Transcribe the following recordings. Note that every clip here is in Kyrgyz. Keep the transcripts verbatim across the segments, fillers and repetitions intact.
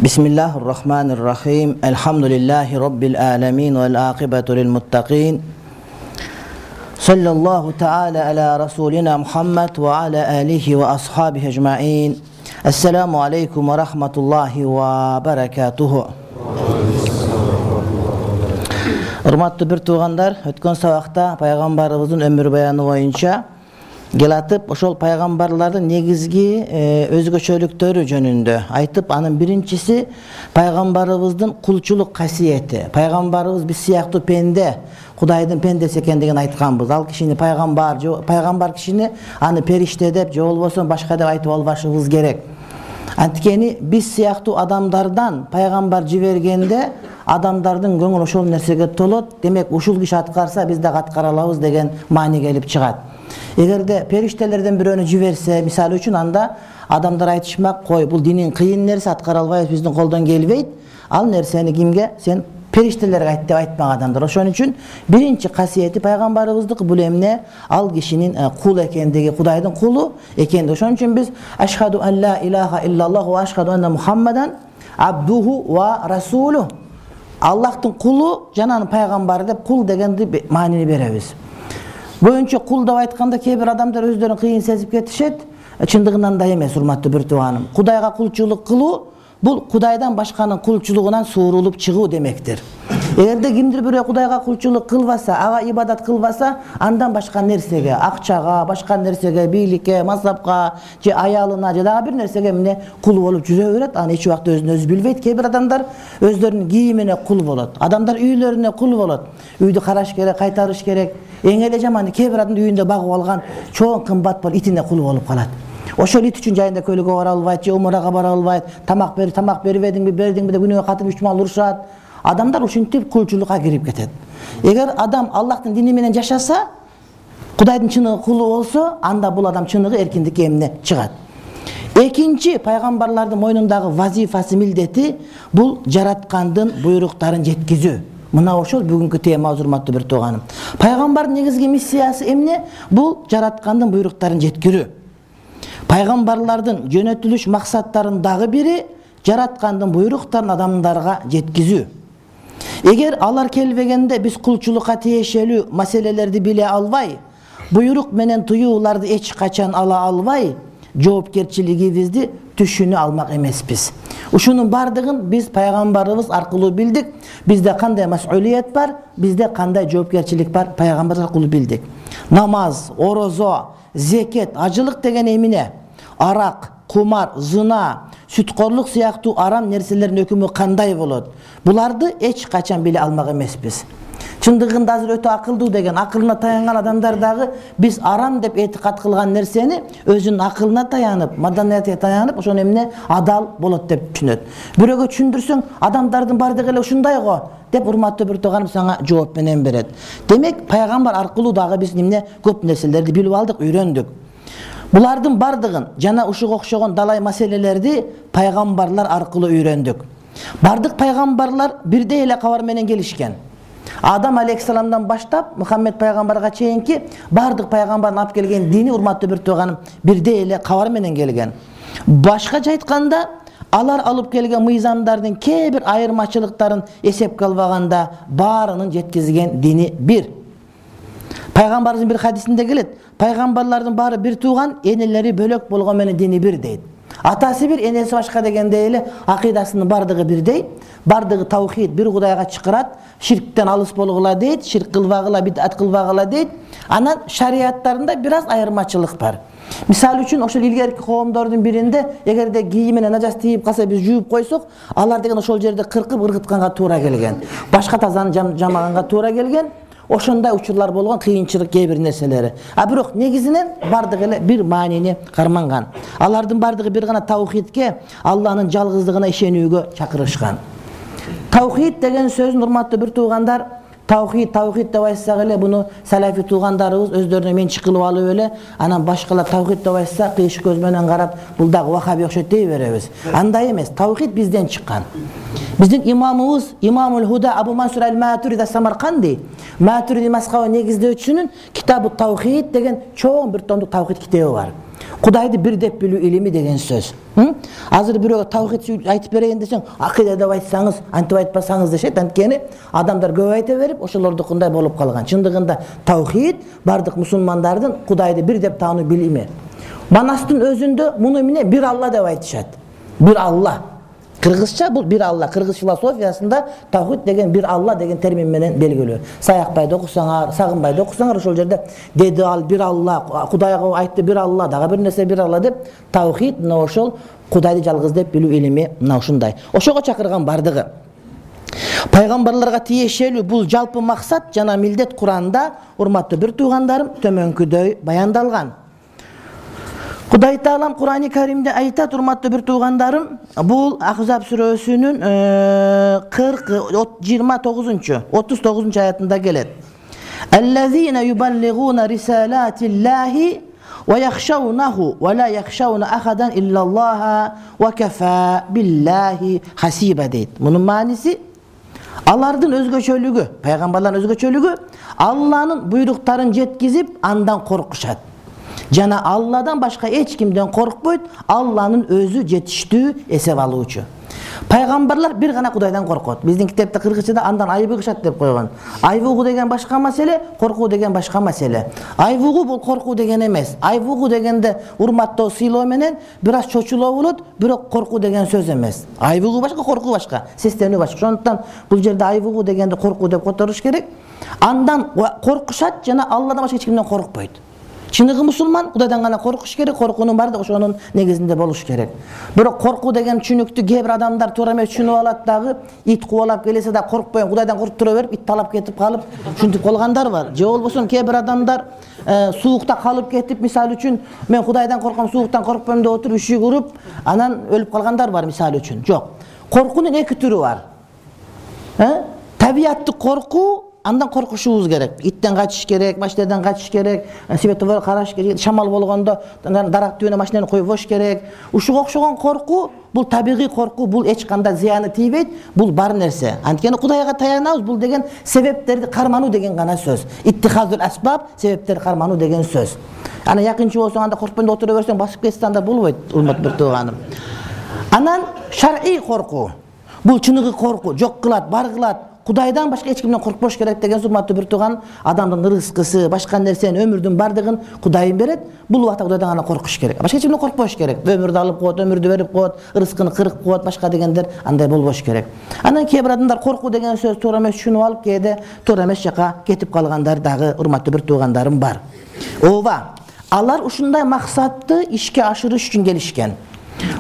Bismillahirrahmanirrahim. Elhamdülillahi Rabbil alemin vel aqibatu lil muttaqin. Sallallahu teala ala Rasulina Muhammed ve ala alihi ve ashabihi ecma'in. Esselamu aleyküm ve rahmetullahi ve berekatuhu. Hurmatlı bir tuğanlar, ötken sabakta Peygamberimizin ömür bayanı boyunca gelatıp oşol paygambarların negizgi e, özgöçölüktörü jönündө aytıp, anın birincisi paygambarыбыздын kulçuluk kasiyeti. Paygambarыбыз biz siyaqtуу pende, Kudayдын pendesi ekендигин айтканбыз. Ал кишини пайгамбар, пайгамбар кишини аны периште деп же болбосо башка деп айтып албашыбыз керек. Анткени биз сыяктуу адамдардан пайгамбар жибергенде адамдардын көңүлү ошол нерсеге толот. Демек ушул киши аткарса биз дагы аткара алабыз деген маани келип чыгат. Эгерде периштелерден бирөөнү жиберсе, мисалы үчүн, анда адамдар айтышмак, кой, бул динин кыйын нерсе, аткара албайбыз, биздин колдон келбейт. Ал нерсени кимге? Сен периштелерге айт деп айтпак адамдар. Ошон үчүн биринчи касиети пайгамбарыбыздыкы бул эмне? Ал кишинин кул экендиги, Кудайдын кулу экендиги. Ошон үчүн биз ашхаду ан ла илаха иллаллах ва ашхаду анна Мухаммадан абдуху ва расулу. Аллахтын кулу жана анын пайгамбары деп кул дегенди маанини беребиз. Бөйүнчө кул деп айтканда кээ бир адамдар өздөрүн кыйын сезип кетишет. Чындыгынан да эмес, урматтуу бир тууганым. Кудайга кулчулук кылуу бул Кудайдан башканын кулчулугунан суурулуп чыгуу демектир. Эгерде кимдир бирөө Кудайга кулчулук кылбаса, ага ибадат кылбаса, андан башка нерсеге, акчага, башка нерсеге, бийликке, мансапка, же аялына, же дагы бир нерсеге эмне кул болуп жүрө берет. Аны эч убакта өзүн өзү билбейт. Кээ бир адамдар өздөрүнүн кийимине кул болот. Адамдар үйлөрүнө кул болот. Үйдү караш керек, кайтарыш керек. Эң эле жаманы кээ бир адамдын үйүндө багып алган чоң кымбат бол итине кул болуп калат. Ошол ит үчүн жайында көйлөгө бара албайт, же умурага бара албайт, тамак бер, тамак бербедиңби, бердиңби деп күнүгө катып үч мал урушат. Адамдар ушинтип кулчулукка кирип кетет. Эгер адам Аллахтын дини менен жашаса, Кудайдын чыныгы кулу болсо, анда бул адам чыныгы эркиндикке эмне чыгат. Экинчи, пайгамбарлардын мойнундагы вазифасы, милдети бул жараткандын буйруктарын жеткизүү. Мына ошол бүгүнкү тема, урматтуу бир тууганым. Пайгамбардын негизги миссиясы эмне? Бул жараткандын буйруктарын жеткирүү. Пайгамбарлардын жөнөтүлүш максаттарынын дагы бири жараткандын буйруктарын адамдарга жеткизүү. Эгер алар келбегенде биз кулчулукка тиешелүү маселелерди биле албай, буйрук менен тыюуларды эч качан ала албай, жоопкерчилигибизди түшүнө алмак эмеспиз. Ушунун бардыгын биз пайгамбарыбыз аркылуу билдик. Бизде кандай мас'улият бар, бизде кандай жоопкерчилик бар, пайгамбар аркылуу билдик. Намаз, орозо, зекет, ажылык деген эмне? Арак, кумар, зына, сүткорлук сыяктуу арам нерселердин өкүмү кандай болот? Буларды эч качан биле алмак эмеспиз. Чындыгында азыр өтө акылдуу деген, акылына таянган адамдар дагы биз арам деп этикат кылган нерсени өзүнүн акылына таянып, маданиятына таянып, ошон эмне адал болот деп түшүнөт. Бирөөгө түшүндүрсөң, адамдардын бардыгы эле ушундай го деп урматтуу бир тууганым сага жооп менен берет. Демек, пайгамбар аркылуу дагы биз эмне көп нерселерди билип алдык, үйрөндүк. Булардын бардыгын жана ушуга окшогон далай маселелерди пайгамбарлар аркылуу үйрөндүк. Бардык пайгамбарлар бирдей эле кабар менен келишкен. Адам алейхиссаламдан баштап Мухаммед пайгамбарга чейинки бардык пайгамбардын алып келген дини, урматтуу бир тууганым, бирдей эле кабар менен келген. Башкача айтканда, алар алып келген мыйзамдардын кээ бир айырмачылыктарын эсепке албаганда баарынын жеткизген дини бир. Пайгамбарыбыздын бир хадисинде келет: пайгамбарлардын баары бир тууган, энелери бөлөк болгон менен дини бир дейт. Атасы бир, энеси башка дегендей эле акыйдасынын бардыгы бирдей, бардыгы таухид, бир Кудайга чакырат, ширктен алыс болгула дейт, ширк кылбагыла, бидат кылбагыла дейт. Анан шариаттарында бир аз айырмачылык бар. Мисалы үчүн, ошол илгерки коомдордун биринде эгерде кийимине нажас тийип калса, биз жууп койсок, алар деген ошол жерде кыркып ыргытканга туура келген. Башка тазаны жамаганга туура келген. Ошондой учурлар болгон, кыйынчылык кээ бир нерселери. А бирок негизинен бардыгы эле бир маанини карманган. Алардын бардыгы бир гана таухидке, Алланын жалгыздыгына ишенүүгө чакырышкан. Таухид деген сөздүн, урматтуу бир туугандар, Тавхид, тавхид деп айтсак эле буну салафи туугандарыбыз өздөрүнө менчик кылып алып эле, анан башкалар тавхид деп айтса кыйш көз менен карап, бул дагы вахаби окшойт дей беребиз. Андай эмес. Тавхид бизден чыккан. Биздин имамыбыз Имамул Худа Абу Мансур аль-Матуриди Самарканди Матуриди мазхабы негиздөөчүсүнүн Китабу Тавхид деген чоң бир томдук тавхид китеби бар. Кудайды бир деп билүү илими деген сөз. Азыр бирөөгө тавхид айтып берейин десең, акыйда деп айтсаңыз, антип айтпасаңыз дешет. Анткени адамдар көп айта берип, ошолордукундай болуп калган. Чындыгында тавхид бардык мусулмандардын Кудайды бир деп таануу билими. Манастын өзүндө муну эмне бир Алла деп айтышат. Бир Алла. Кыргызча бул бир Алла. Кыргыз философиясында тавхид деген бир Алла деген термин менен белгилүү. Саякбайды окусаңар, Сагынбайды окусаңар, ошол жерде деди ал бир Алла, Кудайга айтты бир Алла, дагы бир нерсе бир Алла деп тавхид мына ошол Кудайды жалгыз деп билүү илими мына ушундай. Ошого чакырган бардыгы. Пайгамбарларга тиешелүү бул жалпы максат жана милдет Куранда, урматтуу бир туугандарым, төмөнкүдөй баяндалган. Кудай Таалам Кур'ани Каримде айтат, урматтуу бир туугандарым, бул Ахзаб сүрөсүнүн кырк жыйырма тогузунчу отуз тогузунчу аятында келет. Аллазина юбаллигуна рисалатиллахи ва яхшаунаху ва ла яхшауна ахадан иллаллаха ва кафа биллахи хасиба дейт. Мунун мааниси алардын өзгөчөлүгү, пайгамбарлардын өзгөчөлүгү Алланын буйруктарын жеткизип, андан коркушат. Жана Алладан башка эч кимден коркпойт, Алланын өзү жетиштүү эсеп алуучу. Пайгамбарлар бир гана Кудайдан коркот. Биздин китепте кыргызчада андан айбыгышат деп койгон. Айбыгуу деген башка маселе, коркуу деген башка маселе. Айбыгуу бул коркуу деген эмес. Айбыгуу дегенде урматтоо, сыйлоо менен бир аз чочулоо болот, бирок коркуу деген сөз эмес. Айбыгуу башка, коркуу башка, сестенүү башка. Ошондуктан бул жерде айбыгуу дегенди коркуу деп которуш керек. Андан коркушат жана Алладан башка эч кимден коркпойт. Чыныгы мусулман Кудайдан гана коркуш керек, коркуунун баардыгы ошонун негизинде болуш керек. Бирок коркуу деген түшүнүктү кээ бир адамдар туура эмес түшүнүп алат дагы, ит кубалап келсе да коркпойм, Кудайдан коркуп тура берип, ит талап кетип калып, ушинтип калгандар бар. Же болбосо кээ бир адамдар суукта калып кетип, мисалы үчүн мен Кудайдан корком, сууктан коркпойм деп отуруп үшүк уруп, анан өлүп калгандар бар мисалы үчүн. Жок. Коркуунун эки түрү бар. Табияттык коркуу, андан коркушубуз керек. Иттен качыш керек, машинадан качыш керек, светофор караш керек, шамал болгондо дарак түбүнө машинаны коюп бош керек. Ушуга окшогон коркуу бул табигый коркуу, бул эч кандай зыяны тийбейт, бул бар нерсе. Анткени Кудайга таянабыз, бул деген себептерди кармануу деген гана сөз. Иттихазул асбаб, себептерди кармануу деген сөз. Ана якынчы болсоң, анда коркпойм деп отура берсең, басып кетсе анда болбойт, урмат бир тууганым. Анан шар'ий коркуу. Бул чыныгы коркуу, жок кылат, бар кылат. Кудайдан башка эч кимден коркпош керек деген урматтуу бир тууган, адамдын рызкысы, башка нерсени, өмүрдүн бардыгын Кудай берет. Бул убакта Кудайдан гана коркуш керек. Башка эч кимден коркпош керек. Өмүрдү алып коет, өмүрдү берип коет, рызкыны кырып коет, башка дегендер андай болбош керек. Анан кээ бир адамдар коркуу деген сөз туура эмес түшүнүп алып, кээде туура эмес жака кетип калгандар дагы урматтуу бир туугандарым бар. Ооба, алар ушундай максатты ишке ашырыш үчүн келишкен.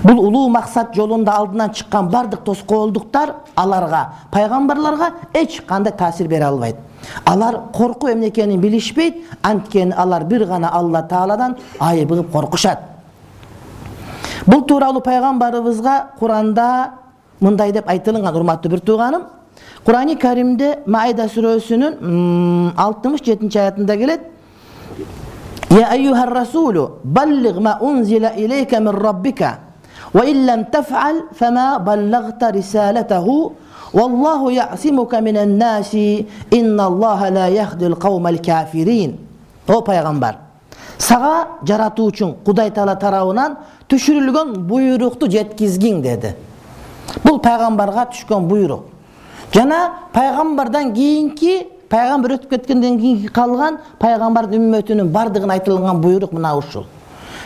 Бул улуу максат жолунда алдынан чыккан бардык тоскоолдуктар аларга, пайгамбарларга эч кандай таасир бере албайт. Алар коркуу эмне экенин билишпейт, анткени алар бир гана Алла Тааладан айбыгып коркушат. Бул тууралуу пайгамбарыбызга Куранда мындай деп айтылган, урматтуу бир тууганым. Кур'ани Каримде Маида сүрөсүнүн алтымыш жетинчи аятында келет. Я айюхар расулу баллиг ма унзила илейка мин раббика ва иллам таф'ал фама баллагта рисалатаху валлаху я'симука минан наси инналлаха ла яхдил кавмал кафирин. О пайгамбар, сага жаратуучуң Кудай Таала тарабынан түшүрүлгөн буйрукту жеткизгиң деди. Бул пайгамбарга түшкөн буйрук. Жана пайгамбардан кийинки, пайгамбар өтүп кеткенден кийин калган пайгамбардын үммөтүнүн бардыгына айтылган буйрук мына ушул.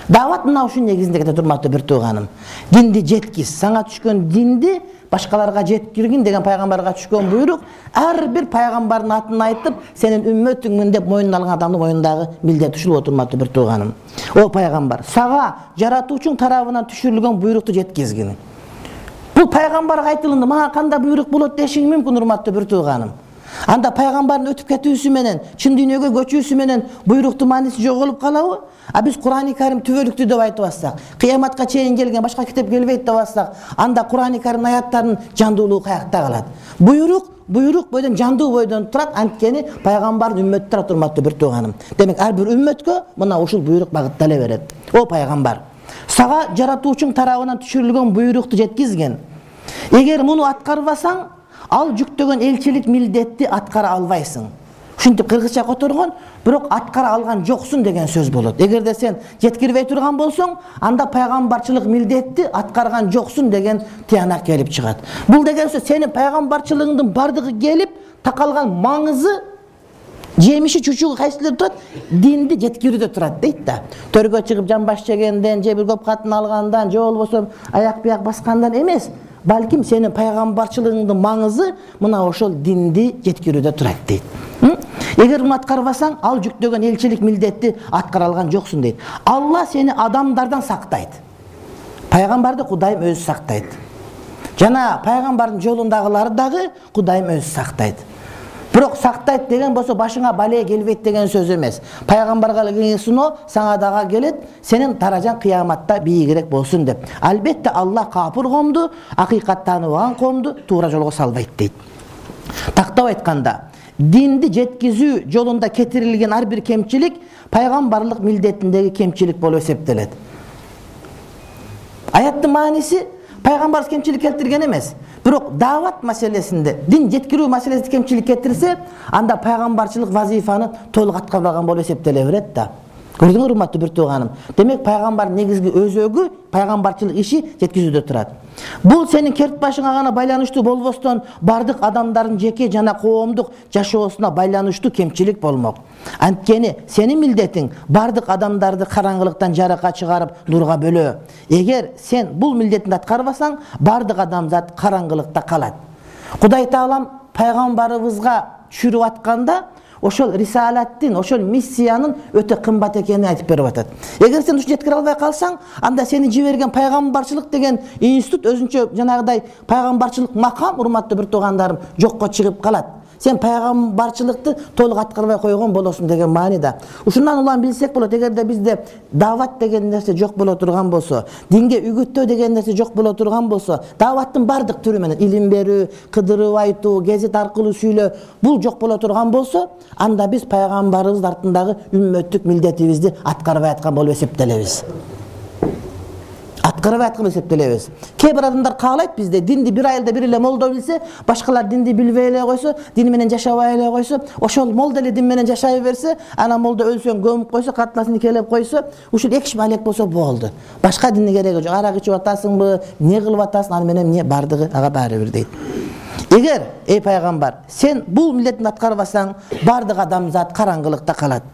Дават мына ушунун негизинде кетет, урматтуу бир тууганым. Динди жеткиз, сага түшкөн динди башкаларга жеткиргин деген пайгамбарга түшкөн буйрук. Ар бир пайгамбардын атын айтып, сенин үммөтүңмүн деп мойнуна алган адамдын мойнундагы милдет ушул болот, урматтуу бир тууганым. О пайгамбар, сага жаратуучуң тарабынан түшүрүлгөн буйрукту жеткизгин. Бул пайгамбарга айтылынды, мага кандай буйрук болот дешиң мүмкүн, урматтуу бир тууганым. Анда пайгамбардын өтүп кетүүсү менен, чын дүйнөгө көчүүсү менен буйруктун мааниси жоголуп калабы? А биз Кур'ани Карим түбөлүктүү деп айтып атсак, кыяматка чейин келген башка китеп келбейт деп атсак, анда Кур'ани Карим аяттарынын жандуулугу каякта калат? Буйрук буйрук бойдон, жандуу бойдон турат. Анткени пайгамбардын үммөтү турат, урматтуу бир тууганым. Демек ар бир үммөткө мына ушул буйрук багыттала берет. О пайгамбар, сага жаратуучуң тарабынан түшүрүлгөн буйрукту жеткизген. Эгер муну аткарбасаң, ал жүктөгөн элчилик милдетти аткара албайсың. Ушинтип кыргызча которгон, бирок аткара алган жоксуң деген сөз болот. Эгерде сен жеткирбей турган болсоң, анда пайгамбарчылык милдетти аткарган жоксуң деген тыянак келип чыгат. Бул деген сөз сенин пайгамбарчылыгыңдын бардыгы келип, такалган маңызы жемиши чучугу кайсылар турат? Динди жеткирүүдө турат дейт да. Төргө чыгып жамбаш жегенден, же бир көп катын алгандан, же болбосо аяк бияк баскандан эмес, балким сенин пайгамбарчылыгыңдын маңызы мына ошол динди жеткирүүдө турат дейт. Эгер муну аткарбасаң, ал жүктөгөн элчилик милдетти аткара алган жоксуң дейт. Алла сени адамдардан сактайт. Пайгамбарды Кудайым өзү сактайт. Жана пайгамбардын жолундагыларды дагы Кудайым өзү сактайт. Бирок сактайт деген болсо башыңа бале келбейт деген сөз эмес. Пайгамбарга келген суно сага дагы келет, сенин даражаң кыяматта бийигирээк болсун деп. Албетте Алла капыр коомду, акыйкат тааныбаган коомду туура жолго салбайт дейт. Тактап айтканда, динди жеткизүү жолунда кетирилген ар бир кемчилик пайгамбарлык милдетиндеги кемчилик болуп эсептелет. Аяттын мааниси пайгамбар кемчилик келтирген эмес. Бирок даават маселесинде, дин жеткирүү маселесинде кемчилик кетирсе, анда пайгамбарчылык вазифаны толук аткарбаган болуп эсептеле берет да. Көрдүңөр урматтуу бир тууганым. Демек пайгамбар негизги өзөгү пайгамбарчылык иши жеткизүүдө турат. Бул сенин керт башыңа гана байланыштуу болбостон, бардык адамдардын жеке жана коомдук жашоосуна байланыштуу кемчилик болмок. Анткени сенин милдетиң бардык адамдарды караңгылыктан жарыкка чыгарып, нурга бөлөө. Эгер сен бул милдетти аткарбасаң, бардык адамзат караңгылыкта калат. Кудай Таалам пайгамбарыбызга түшүрүп атканда ошол рисалаттын, ошол миссиянын өтө кымбат экенин айтып берип атат. Эгер сен ушуну жеткире албай калсаң, анда сени жиберген пайгамбарчылык деген институт өзүнчө жанагыдай пайгамбарчылык макам, урматтуу бир туугандарым, жокко чыгып калат. Сен пайгамбарчылыкты толук аткарбай койгон болосуң деген маанида. Ушундан улам билсек болот, эгерде бизде даават деген нерсе жок боло турган болсо, динге үгүттөө деген нерсе жок боло турган болсо, дааваттын бардык түрү менен илим берүү, кыдырып айтуу, гезит аркылуу сүйлөө, бул жок боло турган болсо, анда биз пайгамбарыбыз артындагы үммөттүк милдетибизди аткарбай аткан болуп эсептелебиз. Аткарбай аткан эсептелебиз. Кээ бир адамдар каалайт бизде динди бир айылда бир эле молдо билсе, башкалар динди билбей эле койсо, дин менен жашабай эле койсо, ошол молдо эле дин менен жашай берсе, ана молдо өлсөң көмүп койсо, катнасын келип койсо, ушул эки киши балек болсо болду. Башка динне кереги жок. Арак ичип атасыңбы, эмне кылып атасың, аны менен эмне бардыгы ага баары бир дейт. Эгер эй пайгамбар, сен бул милдетти аткарбасаң, бардык адамзат караңгылыкта калат.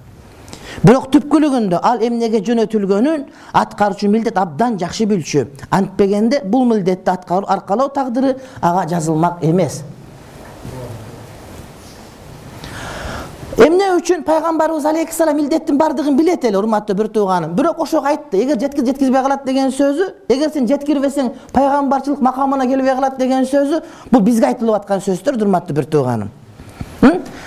Бирок түпкүлүгүндө ал эмнеге жөнөтүлгөнүн аткаруучу милдет абдан жакшы билчү. Антпегенде бул милдетти аткаруу аркалоо тагдыры ага жазылмак эмес. Эмне үчүн пайгамбарыбыз алейхиссалам милдеттин бардыгын билет эле, урматтуу бир тууганым. Бирок ошого айтты, эгер жеткиз жеткизбей калат деген сөзү, эгер сен жеткирбесең пайгамбарчылык макамына келбей калат деген сөзү, бул бизге айтылып аткан сөздөр, урматтуу бир тууганым.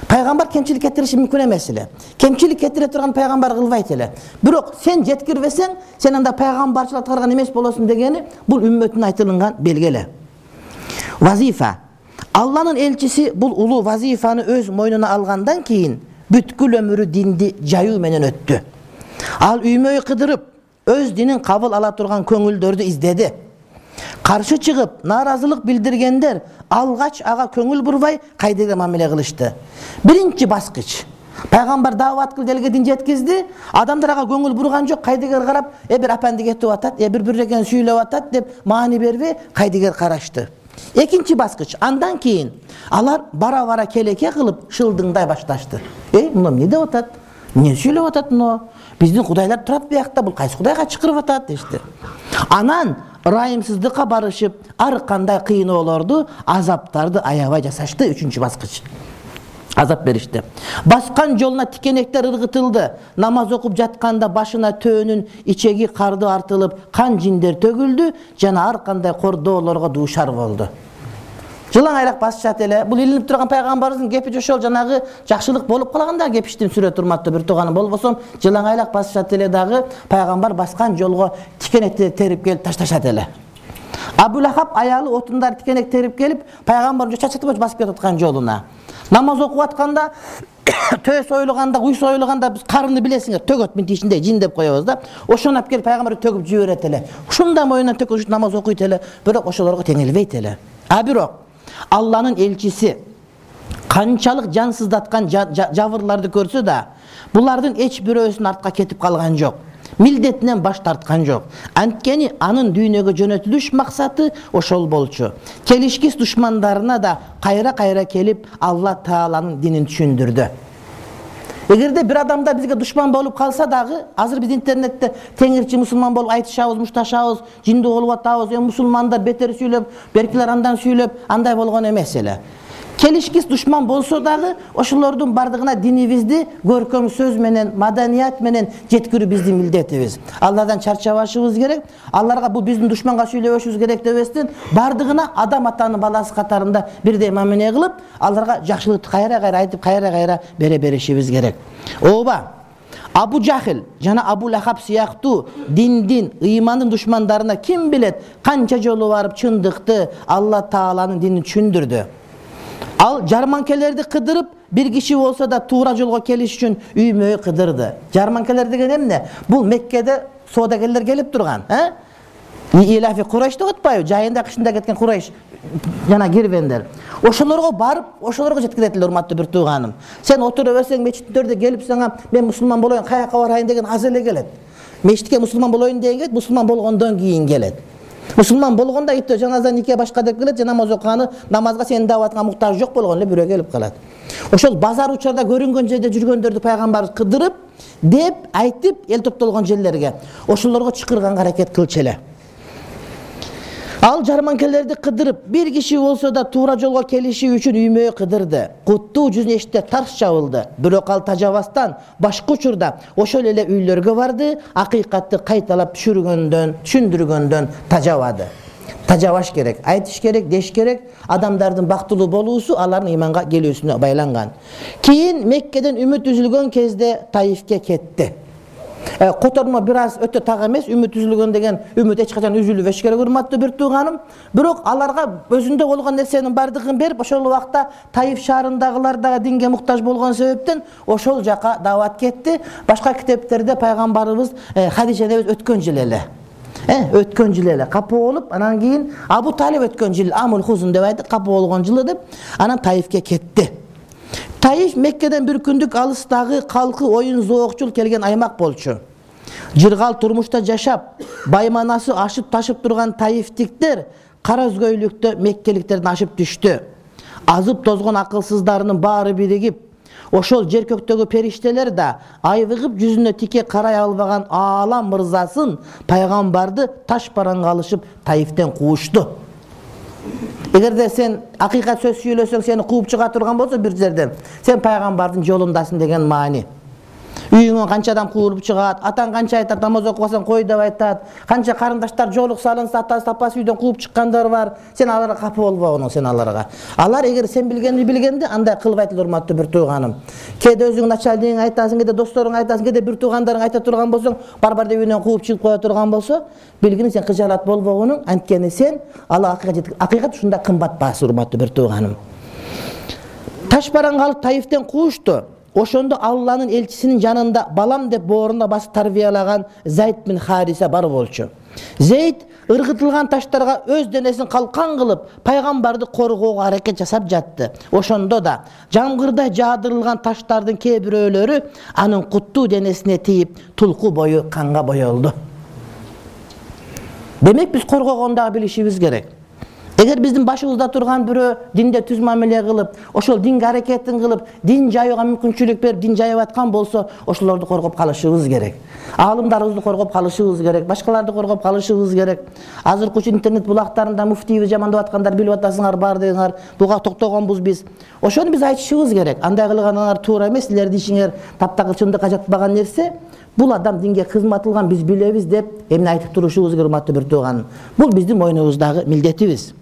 Пайгамбар кемчилик кетириши мүмкүн эмес эле. Кемчилик кетире турган пайгамбар кылбайт эле. Бирок сен жеткирбесең, сен анда пайгамбарчылык аткарган эмес болосуң дегени бул үммөттүн айтылган белгиле. Вазифа. Алланын элчиси бул улуу вазифаны өз мойнуна алгандан кийин бүткүл өмүрү динди жайуу менен өттү. Ал үймөй кыдырып, өз динин кабыл ала турган көңүлдөрдү издеди. Каршы чыгып, нааразылык билдиргендер алгач ага көңүл бурбай кайдыгы мамиле кылышты. Биринчи баскыч. Пайгамбар даават кылып элге дин жеткизди, адамдар ага көңүл бурган жок, кайдыгы карап, э бир апанды кетип атат, э бир биреген сүйлөп атат деп маани бербей кайдыгы карашты. Экинчи баскыч. Андан кийин алар бара-бара келеке кылып шылдыңдай башташты. Э, мына эмне деп атат? Эмне сүйлөп атат мына? Биздин кудайлар турат биякта, бул кайсы кудайга чакырып атат дешти. Анан ырайымсыздыкка барышып, ар кандай кыйноолорду, азаптарды аябай жасашты. Үчүнчү баскыч. Азап беришти. Баскан жолуна тикенектер ыргытылды. Намаз окуп жатканда башына төөнүн ичеги карды артылып, кан жиндер төгүлдү, жана ар кандай кордоолорго дуушар болду. Жылаң айрак басышат эле. Бул илинип турган пайгамбарыбыздын кепи ошол жанагы жакшылык болуп калганда кепиштин сүрөт, урматтуу бир тууганым, болбосо жылаң айрак басышат эле дагы пайгамбар баскан жолго тикенекти терип келип ташташат эле. Абу Лахаб аялы отундар тикенек терип келип, пайгамбарга чачыртып басып кетип аткан жолуна. Намаз окуп атканда, төс ойлоганда, уйс ойлоганда биз карынды билесиңер, төгөт мынтип ичинде жин деп коебуз да. Ошону алып келип пайгамбарга төгүп жиберет эле. Ушундай моюнан төкүп намаз окуйт эле, бирок ошолорго теңелбейт эле. А бирок Алланын элчиси канчалык жан сыздаткан жабырларды көрсө да, булардын эч бирөөсүн артка кетип калган жок. Милдетинен баш тарткан жок. Анткени анын дүйнөгө жөнөтүлүш максаты ошол болчу. Келишкис душмандарына да кайра-кайра келип Алла Тааланын динин түшүндүрдү. Эгерде бир адамда бизге душман болуп калса дагы, азыр биз интернетте теңирчи мусулман болуп айтышабыз, мушташабыз, жинди болуп атабыз, эми мусулмандар бетер сүйлөп, беркилер андан сүйлөп, андай болгон эмес эле. Келишкис душман болсо дагы, ошолордун бардыгына динибизди көркөм сөз менен, маданият менен жеткирүү биздин милдетибиз. Алардан чарчабашыбыз керек, аларга бу биздин душманга сүйлөбөшүбүз керек дебестен, бардыгына адам атанын баласы катарында бирдей мамиле кылып, аларга жакшылыкты кайра-кайра айтып, кайра-кайра бере беришибиз керек. Ооба, Абу Жахил жана Абу Лахаб сыяктуу диндин, ыймандын душмандарына ким билет канча жолу барып чындыкты, Алла Тааланын динин түшүндүрдү. Ал жарманкелерди кыдырып, бир киши болсо да туура жолго келиш үчүн үймөй кыдырды. Жарманкелер деген эмне? Бул Меккеде соодагерлер келип турган, э? Илафи Курайш деп атпайбы? Жайында кышында кеткен Курайш жана кирбендер. Ошолорго барып, ошолорго жеткирет эле, урматтуу бир тууганым. Сен отура берсең мечиттөрдө келип сага мен мусулман болоюн, каяка барайын деген аз эле келет. Мечитке мусулман болоюн деген келет, мусулман болгондон кийин келет. Мусулман болгондо итте жаназа нике башка деп келет, жана намаз окуганы, намазга сенин даватыңа муктаж жок болгон эле бирөө келип калат. Ошол базар учарда көрүнгөн жерде жүргөндөрдү пайгамбарыбыз кыдырып, деп, айтып, эл топтолгон жерлерге ошолорго чакырганга аракет кылчу эле. Ал жарманкелерди кыдырып, бир киши болсо да туура жолго келиши үчүн үймөй кыдырды. Куттуу жүзүнө эшикте тарс жабылды. Бирок ал тажабастан башка учурда ошол эле үйлөргө барды, акыйкатты кайталап түшүргөндөн, түшүндүргөндөн тажабады. Тажабаш керек, айтыш керек, деш керек. Адамдардын бактылуу болуусу алардын ыйманга келүүсүнө байланган. Кийин Меккеден үмүт үзүлгөн кезде Таифке кетти. Котормо бир аз өтө так эмес, үмүт үзүлгөн деген үмүт эч качан үзүлбөш керек, урматтуу бир тууганым. Бирок аларга өзүндө болгон нерсенин бардыгын берип, ошол убакта Таиф шаарындагылар дагы динге муктаж болгон себептен ошол жака дават кетти. Башка китептерде пайгамбарыбыз Хадижа энебиз өткөн жыл эле. Э, өткөн жыл эле капы болуп, анан кийин Абу Талиб өткөн жыл, Амул Хузун деп айтып, капы болгон жылы деп, анан Таифке кетти. Таиф Меккеден бир күндүк алыстагы калкы оюн зоокчул келген аймак болчу. Жыргал турмушта жашап, байманасы ашып ташып турган таифтиктер кара өзгөйлүктө меккеликтерден ашып түштү. Азып тозгон акылсыздарынын баары биригип, ошол жер көктөгү периштелер да айвыгып жүзүнө тике карай албаган аалам мырзасын, пайгамбарды таш бараңга алышып Таифтен куушту. Эгерде сен акыйкат сөз сүйлөсөң, сени кууп чыга турган болсо бир жерден, сен пайгамбардын жолундасың деген маани. Үйүңөн канча адам куулуп чыгат, атаң канча айтат, намаз окубасаң кой деп айтат, канча карындаштар жолук салынса, атасы тапасы үйдөн кууп чыккандар бар. Сен аларга капы болбогуң, сен аларга. Алар эгер сен билгенди билгенде, андай кылбайт эле, урматтуу бир тууганым. Кээде өзүңдүн начальнигиң айтасың, кээде досторуң айтасың, кээде бир туугандарың айта турган болсоң, бар-бар деп үйүнөн кууп чыгып кое турган болсо, билгин сен кыжалат болбогунуң, анткени сен Алла акыйкат акыйкат ушундай кымбат баасы, урматтуу бир тууганым. Таш бараңга алып Таифтен куушту. Ошондо Алланын элчисинин жанында балам деп боорунда басып тарбиялаган Зайд бин Хариса бар болчу. Зейд ыргытылган таштарга өз денесин калкан кылып, пайгамбарды коргоого аракет жасап жатты. Ошондо да жамгырдай жаадырылган таштардын кээ бирөөлөрү анын куттуу денесине тийип, тулку бою канга боелду. Демек биз коргогондагы билишибиз керек. Эгер биздин башыбызда турган бирөө динде түз мамиле кылып, ошол динге аракетин кылып, дин жайууга мүмкүнчүлүк берип, дин жайып аткан болсо, ошолорду коргоп калышыбыз керек. Аалымдарыбызды коргоп калышыбыз керек, башкаларды коргоп калышыбыз керек. Азыркы интернет булактарында муфтийби жамандап аткандар билип атасыңар бар дегеңер, буга токтогонбуз биз. Ошону биз айтышыбыз керек. Андай кылганыңар туура эмес, силердин ишиңер таптакыр чындыкка жатпаган нерсе. Бул адам динге кызмат кылган, биз билебиз деп эмне айтып турушубуз керек, урматтуу бир тууганым. Бул биздин мойнубуздагы милдетибиз.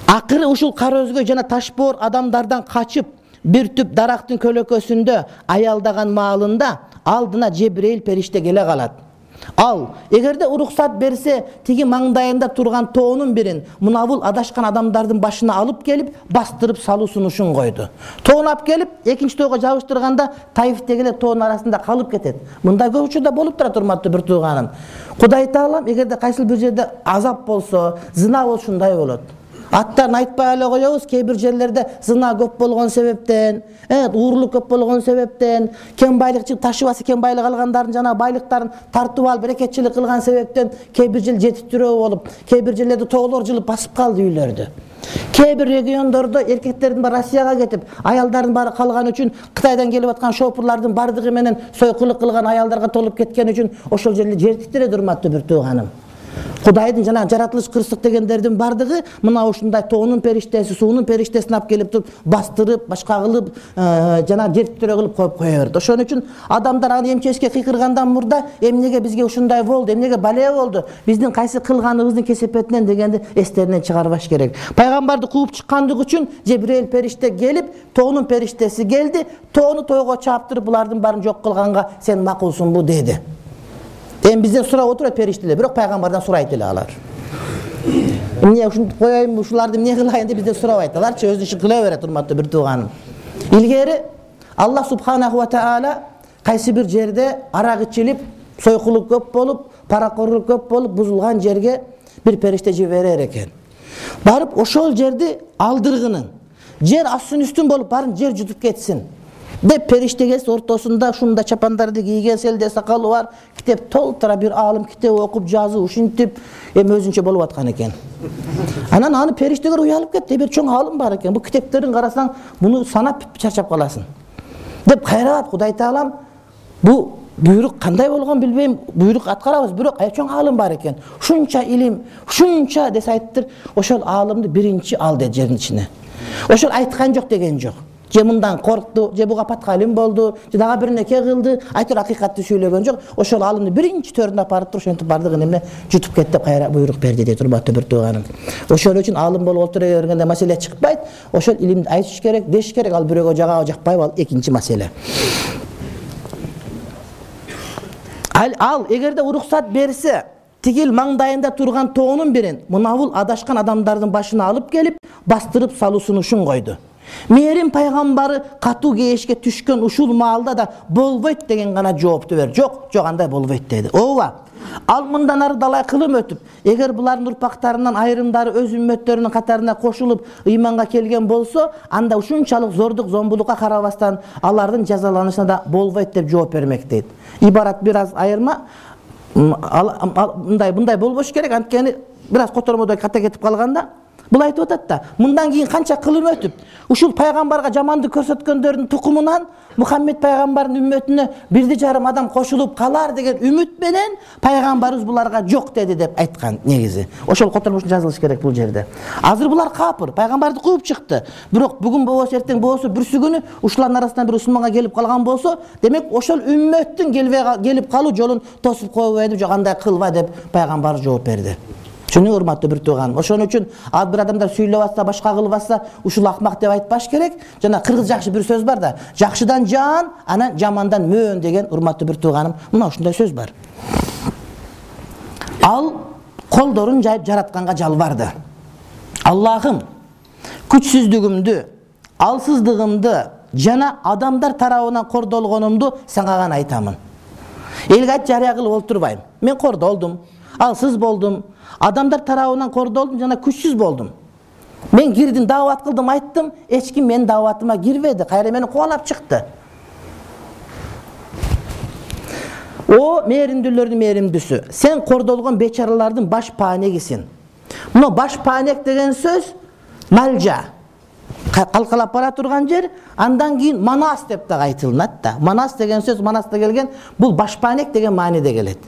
Акыры ушул кара өзгөй жана ташбоор адамдардан качып, бир түп дарактын көлөкөсүндө аялдаган маалында алдына Жебрейил периште келе калат. Ал эгерде уруксат берсе, тиги маңдайында турган тоонун бирин мунабул адашкан адамдардын башына алып келип, бастырып салуу сунушун койду. Тоону алып келип, экинчи тоого жабыштырганда Таифтеги эле тоонун арасында калып кетет. Мындай көп учурда болуп турат, урматтуу бир тууганым. Кудай Таалам эгерде кайсыл бир жерде азап болсо, зына болсо ушундай болот. Аттарын айтпай эле коебуз, кээ бир жерлерде зына көп болгон себептен, уурулук көп болгон себептен, кем байлык ташыбасы кем байлык алгандардын жана байлыктарын тартып алып берекетчилик кылган себептен кээ бир жер жетиштирөө болуп, кээ бир жерлерде тоолор жылып басып калды үйлөрдү. Кээ бир региондордо эркектердин баары Россияга кетип, аялдардын баары калган үчүн Кытайдан келип аткан шопурлардын бардыгы менен сойкулук кылган аялдарга толуп кеткен үчүн ошол жерлер жетиштирет, урматтуу бир тууганым. Кудайдын жана жаратылыш кырсык дегендердин бардыгы мына ушундай тоонун периштеси, суунун периштесин алып келип туруп бастырып, башка кылып, жана жертиктирөө кылып коюп кое берди. Ошон үчүн адамдар аны эмчекке кыйкыргандан мурда эмнеге бизге ушундай болду, эмнеге бале болду, биздин кайсы кылганыбыздын кесепетинен дегенди эстеринен чыгарбаш керек. Пайгамбарды кууп чыккандык үчүн Жебирейил периште келип, тоонун периштеси келди, тоону тойго чаптырып, булардын баарын жок кылганга сен макулсуңбу деди. Эми бизден сурап отурат периштелер, бирок пайгамбардан сурайт эле алар. Эмне ушуну коеюн, ушуларды эмне кылайын деп бизден сурабайт. Аларчы өзү ишин кыла берет, урматтуу бир тууганым. Илгери Аллах субханаху ва таала кайсы бир жерде арак ичилип, сойкулук көп болуп, паракорлук көп болуп, бузулган жерге бир периште жиберер экен. Барып ошол жерди алдыргынын, жер астын үстүн болуп барын жер жутуп кетсин деп периштеге ортосунда ушундай чапандарды кийген, селде сакалы бар, китеп толтура бир алым китеп окуп жазып, ушинтип эми өзүнчө болуп аткан экен. Анан аны периштегер уялып кетти, бир чоң алым бар экен. Бу китептерин карасаң, муну санап чарчап каласың. Деп кайралат Кудай Таалам, бу буйрук кандай болгон билбейм, буйрук аткарабыз, бирок чоң алым бар экен. Ушунча илим, ушунча десе айттыр, ошол алымды биринчи ал деди жердин ичине. Ошол айткан жок деген жок. Же мындан коркту, же буга паткалым болду, же дагы бир неке кылды, айтыр акыйкатты сүйлөгөн жок. Ошол алымды биринчи төрүнө апарып туруп, ошентип бардыгын эмне жутуп кетти деп кайра буйрук берди дейт, урматтуу бир тууганым. Ошол үчүн алым болуп отура бергенде маселе чыкпайт. Ошол илимди айтыш керек, деш керек, ал бирөөгө жагабы жакпайбы, ал экинчи маселе. Ал, ал эгерде уруксат берсе, тигил маңдайында турган тоонун бирин мунабул адашкан адамдардын башына алып келип, бастырып салуу сунушун койду. Мээрим пайгамбары катуу кейишке түшкөн ушул маалда да болбойт деген гана жоопту берди. Жок, жок андай болбойт деди. Ооба. Ал мындан ары далай кылым өтүп, эгер булардын урпактарынан айрымдары өз үммөттөрүнүн катарына кошулуп ыйманга келген болсо, анда ушунчалык зордук, зомбулукка карабастан алардын жазаланышына да болбойт деп жооп бермек дейт. Ибарат бир аз айырма, мындай мындай болбош керек, анткени бир аз котормодой ката кетип калганда бул айтып атат да, мындан кийин канча кылым өтүп, ушул пайгамбарга жамандык көрсөткөндөрдүн тукумунан Мухаммед пайгамбардын үммөтүнө бирди жарым адам кошулуп калар деген үмүт менен пайгамбарыбыз буларга жок деди деп айткан негизи. Ошол котормошун жазылыш керек бул жерде. Азыр булар капыр, пайгамбарды кууп чыкты. Бирок бүгүн болбосо эртең болбосо бүрсү күнү ушулардын арасынан бир мусулманга келип калган болсо, демек ошол үммөттүн келип калуу жолун тосуп койбойт, жок андай кылба деп пайгамбар жооп берди. Чүнү урматтуу бир тууганым. Ошон үчүн ал бир адамдар сүйлөп атса, башка кылып атса, ушул акмак деп айтпаш керек. Жана кыргыз жакшы бир сөз бар да, жакшыдан жан, анан жамандан мөөн деген урматтуу бир тууганым. Мына ушундай сөз бар. Ал колдорун жайып жаратканга жалбарды. Аллахым, күчсүздүгүмдү, алсыздыгымды жана адамдар тарабынан кордолгонумду сага гана айтамын. Элге айт жарыя кылып олтурбайм. Мен кордолдум, алсыз болдум, адамдар тарабынан кордолдум жана күчсүз болдум. Мен кирдим, даават кылдым, айттым, эч ким менин дааватыма кирбеди, кайра мени кубалап чыкты. О мээримдүүлөрдүн мээримдүүсү, сен кордолгон бечаралардын баш паанегисиң. Мына баш паанек деген сөз малжа. Калкалап бара турган жер, андан кийин манас деп да айтылат да. Манас деген сөз Манаста келген, бул баш паанек деген мааниде келет.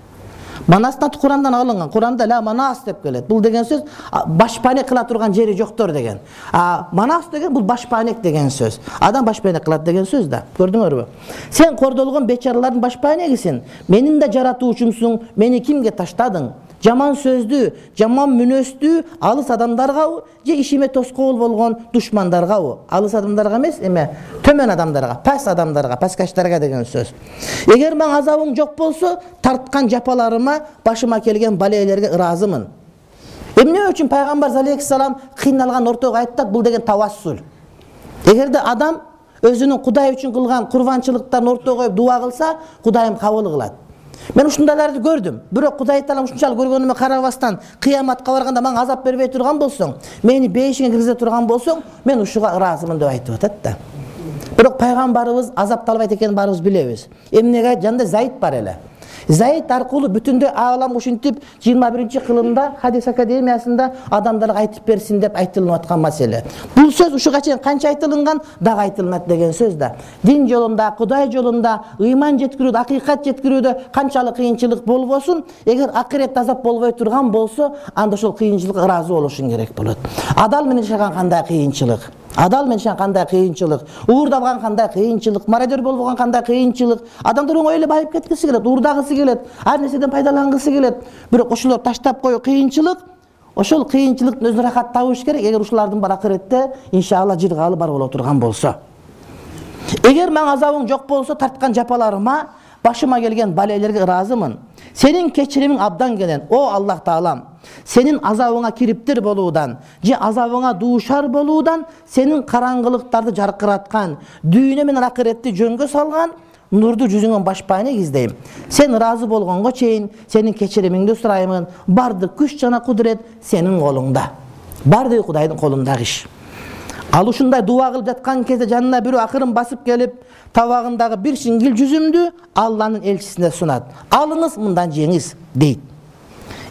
Манастан Курандан алынган. Куранда ла манас деп келет. Бул деген сөз башпанек кыла турган жери жоктор деген. А манас деген бул башпанек деген сөз. Адам башпанек кылат деген сөз да. Көрдүңөрбү? Сен кордолгон бечаралардын башпанегисиң. Менин да жаратуучумсуң. Мени кимге таштадың? жаман сөздүү, жаман мүнөздүү алыс адамдаргабы же ишиме тоскоол болгон душмандаргабы? Алыс адамдарга эмес, эме төмөн адамдарга, пас адамдарга, паскачтарга деген сөз. Эгер мен азабың жок болсо, тарткан жапаларыма, башыма келген балейлерге ыраазымын. Эмне үчүн пайгамбар алейхиссалам кыйналган ортого айтат, бул деген тавассул. Эгерде адам өзүнүн Кудай үчүн кылган курбанчылыктарын ортого коюп дуа кылса, Кудайым кабыл кылат. Мен ушундайларды көрдүм. Бирок Кудай Таалам ушунчалык көргөнүмө карабастан кыяматка барганда мага азап бербей турган болсоң, мени бейишиңе киргизе турган болсоң, мен ушуга ыраазымын деп айтып атат да. Бирок пайгамбарыбыз азапталбайт экенин баарыбыз билебиз. Эмнеге? Жанында Заид бар эле. Заид аркылуу бүтүндөй аалам ушинтип жыйырма биринчи кылымда Хадис академиясында адамдарга айтып берсин деп айтылып аткан маселе. Бул сөз ушуга чейин канча айтылган, дагы айтылат деген сөз да. Дин жолунда, Кудай жолунда, ыйман жеткирүүдө, акыйкат жеткирүүдө канчалык кыйынчылык болбосун, эгер акырет азап болбой турган болсо, анда ошол кыйынчылыкка ыраазы болушуң керек болот. Адал менен жашаган кандай кыйынчылык? Адал менен кандай кыйынчылык, уурдабган кандай кыйынчылык, мародер болгон кандай кыйынчылык. Адамдар оңой эле байып кеткиси келет, уурдагысы келет, ар нерседен пайдалангысы келет. Бирок ошолор таштап коюу кыйынчылык, ошол кыйынчылыктын өзү рахат табыш керек, эгер ушулардын бар акыретте иншалла жыргалы бар боло турган болсо. Эгер мен азабың жок болсо, тарткан жапаларыма, башыма келген балейлерге ыраазымын. Сенин кечиримиң абдан келен, о Аллах Таалам. Сенин азабыңа кириптир болуудан, же азабыңа дуушар болуудан, сенин караңгылыктарды жаркыраткан, дүйнө менен акыретти жөнгө салган нурду жүзүңөн башпайын издейм. Сен ыраазы болгонго чейин сенин кечиримиңди сураймын. Бардык күч жана кудурет сенин колуңда. Бардыгы Кудайдын колундагы иш. Ал ушундай дуа кылып жаткан кезде жанына бирөө акырын басып келип, табагындагы бир шиңгил жүзүмдү Алланын элчисине сунат. Алыңыз мындан жеңиз дейт.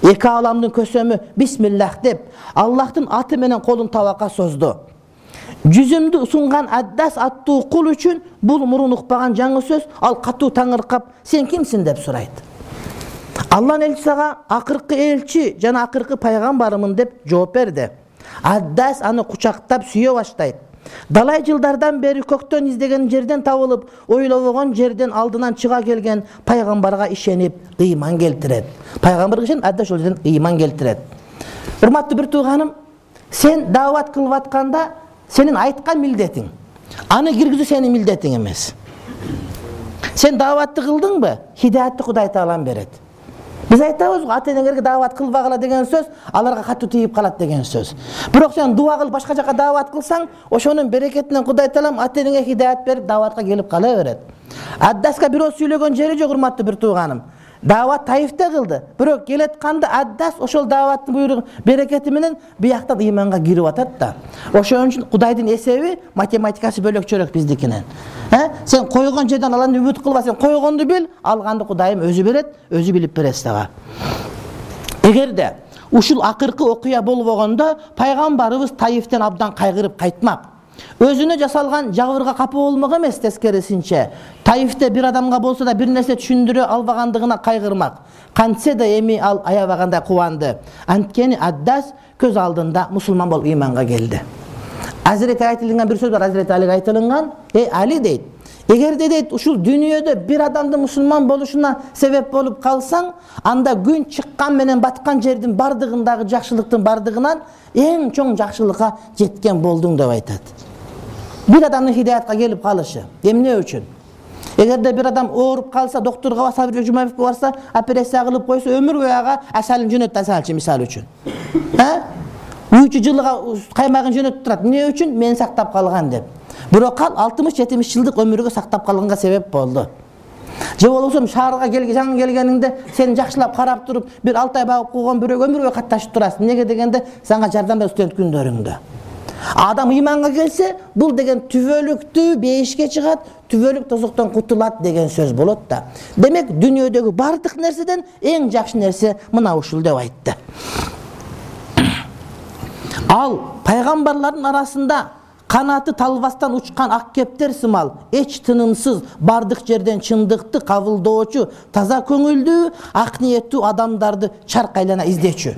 Эки аламдын көсөмү бисмиллах деп Аллахтын аты менен колун табакка созду. Жүзүмдү сунган Аддас аттуу кул үчүн бул мурун укпаган жаңы сөз, ал катуу таңыркап, сен кимсиң деп сурайт. Алланын элчиси ага акыркы элчи жана акыркы пайгамбарымын деп жооп берди. Аддас аны кучактап сүйө баштайт. Далай жылдардан бери көктөн издеген жерден табылып, ойлобогон жерден алдынан чыга келген пайгамбарга ишенип, ыйман келтирет. Пайгамбарга ишенип, Аддас ошол жерден ыйман келтирет. Урматтуу бир тууганым, сен даават кылып атканда сенин айткан милдетиң, аны киргизүү сенин милдетиң эмес. Сен дааватты кылдыңбы? Хидаятты Кудай Таалам берет. Биз айтабыз, ата-энеңерге даават кылбагыла деген сөз, аларга катуу тийип калат деген сөз. Бирок сен дуа кылып башка жака даават кылсаң, ошонун берекетинен Кудай Таалам ата-энеңе хидаят берип дааватка келип кала берет. Аддаска бирөө сүйлөгөн жери жок, урматтуу бир тууганым. Даават Таифте кылды. Бирок келетканда Аддас ошол дааваттын буйругу берекети менен бияктан ыйманга кирип атат да. Ошон үчүн Кудайдын эсеби, математикасы бөлөкчөрөөк биздикинен. Э? Сен койгон жерден аланды үмүт кылба, сен койгонду бил, алганды Кудайым өзү берет, өзү билип берет сага. Эгерде ушул акыркы окуя болбогондо, пайгамбарыбыз Таифтен абдан кайгырып кайтмак. Өзүнө жасалган жабырга капа болмок эмес, тескерисинче. Таифте бир адамга болсо да бир нерсе түшүндүрө албагандыгына кайгырмак. Кантсе да эми ал аябагандай кубанды. Анткени Аддас көз алдында мусулман болуп ыйманга келди. Азирети айтылган бир сөз бар, Азирети Алиге айтылган, "Эй Али" дейт. Эгерде дейт ушул дүйнөдө бир адамдын мусулман болушуна себеп болуп калсаң, анда күн чыккан менен баткан жердин бардыгындагы жакшылыктын бардыгынан эң чоң жакшылыкка жеткен болдуң деп айтат. Bir adamın hidayatga gelip kalışı. Emne üçün? Эгерде бир адам ооруп калса, доктурга Сабир Жумаев барса, операция кылып койсо, өмүр бою ага асалын жөнөттү, асалчы мисалы үчүн. Э? үч жылга каймагын жөнөтүп турат. Эмне үчүн? Мен сактап калган деп. Бирок ал алтымыш жетимиш жылдык өмүргө сактап калганга себеп болду. Же болбосо шаарга келген, жаңы келгениңде сени жакшылап карап туруп, бир алты ай багып койгон бирөө өмүр бою катташып турасың. Неге дегенде, сага жардам берет студент күндөрүңдө. Адам ыйманга келсе, бул деген түбөлүктүү бейишке чыгат, түбөлүк тозоктон кутулат деген сөз болот да. Демек, дүйнөдөгү бардык нерседен эң жакшы нерсе мына ушул деп айтты. Ал пайгамбарлардын арасында канаты талбастан учкан ак кептер сымал, эч тынымсыз бардык жерден чындыкты кабылдоочу, таза көңүлдүү, ак ниеттүү адамдарды чарк айлана издечү.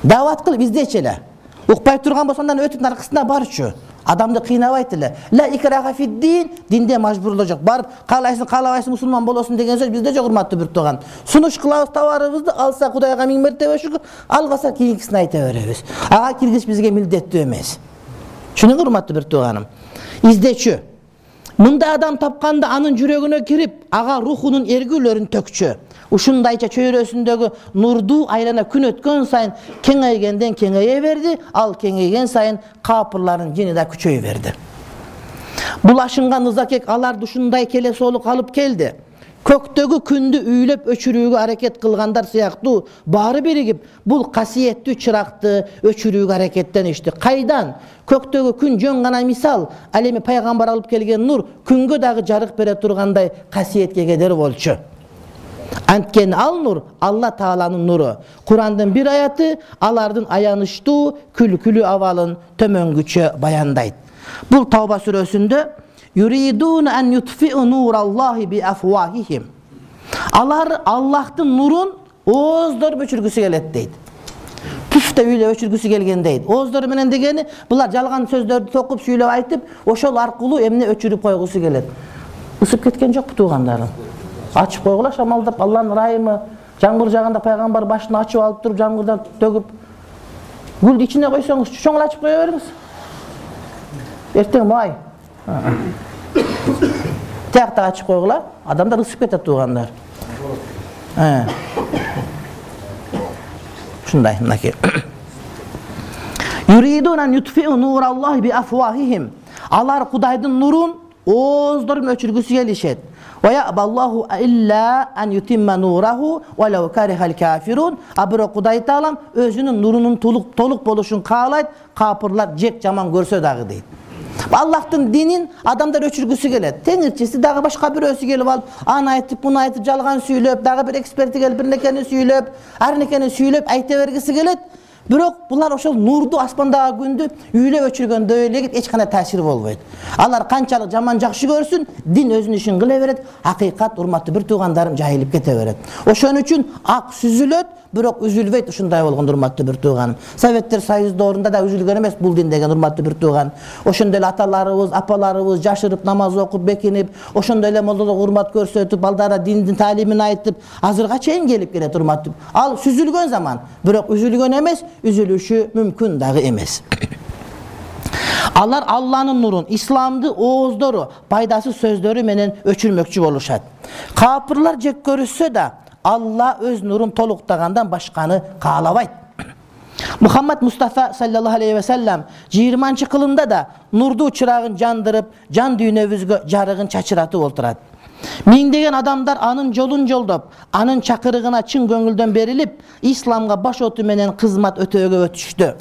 Даават кылып издечи эле. Укпай турган болсоң, андан өтүп аркасына барчу. Адамды кыйнабайт эле. Ла икраха фид-дин, динде мажбурлоо жок. Барып каалайсың, каалабайсың мусулман болосуң деген сөз бизде жок, урматтуу бир тууган. Сунуш кылабыз товарыбызды, алса Кудайга миң мертебе шүкүр, албаса кийинкисин айта беребиз. Ага киргиз бизге милдеттүү эмес. Шуның урматтуу бир тууганым. Издечү. Мында адам тапканда анын жүрөгүнө кирип, ага рухунун эргүүлөрүн төкчү. Ушундайча чөйрөсүндөгү нурду айлана күн өткөн сайын кеңейгенден кеңейе берди, ал кеңейген сайын капырлардын жини да күчөйө берди. Бул ашынган ызакек аларды ушундай келесоолук алып келди. Көктөгү күндү үйлөп өчүрүүгө аракет кылгандар сыяктуу баары биригип, бул касиеттүү чыракты өчүрүүгө аракеттеништи. Кайдан? Көктөгү күн жөн гана мисал, ал эми пайгамбар алып келген нур күнгө дагы жарык бере тургандай касиетке кедер болчу. Анткени ал нур Алла Тааланын нуру. Курандын бир аяты алардын аянычтуу, күлкүлүү абалын төмөнгүчө баяндайт. Бул Тауба сүрөсүндө юридуна ан ютфиу нураллахи би афвахихим. Алар Аллахтын нурун ооздоруп өчүргүсү келет дейт. Пүфтө үйлөп өчүргүсү келген дейт. Ооздору менен дегени булар жалган сөздөрдү токуп сүйлөп айтып, ошол аркылуу эмне өчүрүп койгусу келет. Ысып кеткен жокпу туугандарым? Ачып койгула шамалдап, Алланын ырайымы, жаңгыр жаганда пайгамбар башын ачып алып туруп, жаңгырдан төгүп, гүлдү ичине койсоңуз, чоң ачып кое бериңиз. Эртең май. Тиякта ачып койгула, адамдар ысып кетет туугандар. Ушундай, мынакей. Юридунан ютфиу нураллахи би афвахихим. Алар Кудайдын нурун ооздоруп өчүргүсү келишет. Ваябаллаху илля ан ютимма нураху валау карихал кафирун. А бирок Кудай Таалам өзүнүн нурунун толук толук болушун каалайт, капырлар жек жаман көрсө дагы дейт. Аллахтын динин адамдар өчүргүсү келет. Теңирчиси дагы башка бирөөсү келип алып, аны айтып, буну айтып, жалган сүйлөп, дагы бир эксперти келип бир некени сүйлөп, ар некени сүйлөп айта бергиси келет. Бирок булар ошол нурду аспандагы күндү үйлөп өчүргөндөй эле эч кандай таасир болбойт. Алар канчалык жаман жакшы көрсүн, дин өзүнүн ишин кыла берет, акыйкат урматтуу бир туугандарым жайылып кете берет. Ошон үчүн ак сүзүлөт, бирок үзүлбөйт. Ушундай болгон урматтуу бир тууганым. Советтер Союз доорунда да үзүлгөн эмес бул дин деген урматтуу бир тууган. Ошондой эле аталарыбыз, апаларыбыз жашырып намаз окуп бекинип, ошондой эле молдолук урмат көрсөтүп, балдарга диндин таалимин айтып, азырга чейин келип келет урматтуу. Ал сүзүлгөн заман, бирок үзүлгөн эмес, үзүлүшү мүмкүн дагы эмес. Алар Алланын нурун, исламды ооздору, пайдасыз сөздөрү менен өчүрмөкчү болушат. Капырлар жек көрүшсө да, Алла өз нурун толуктагандан башканы каалабайт. Мухаммад Мустафа саллаллаху алейхи ва саллям жыйырманчы кылымда да нурдуу чырагын жандырып, жан дүйнөбүзгө жарыгын чачыратып олтурат. Миңдеген адамдар анын жолун жолдоп, анын чакырыгына чын көңүлдөн берилип, исламга баш оту менен кызмат өтөөгө өтүштү.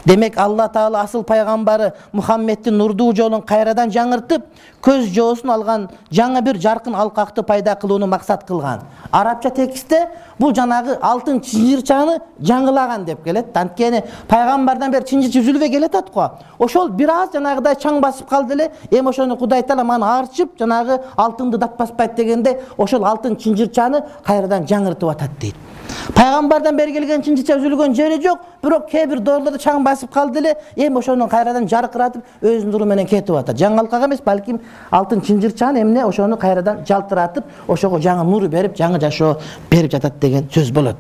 Демек Алла Таала асыл пайгамбары Мухаммеддин нурдуу жолун кайрадан жаңыртып, көз жоосун алган жаңы бир жаркын алкакты пайда кылууну максат кылган. Арабча текстте бул жанагы алтын чынжырчаны жаңылаган деп келет. Анткени пайгамбардан бери чынжыр үзүлбөй келатат го. Ошол бир аз жанагыдай чаң басып калды эле, эми ошону Кудай Таала маны арчып, жанагы алтынды датпаспайт дегенде, ошол алтын чынжырчаны кайрадан жаңыртып атат дейт. Пайгамбардан бери келген чынжырча үзүлгөн жери жок, бирок кээ бир доорлордо чаң басып калды эле, эми ошону кайрадан жаркыратып, өз нуру менен кетип атат. Жаңы алкак эмес, балким алтын чынжырчаны эмне ошону кайрадан жалтыратып, ошого жаңы нур берип, жаңы жашоо берип жатат деген сөз болот.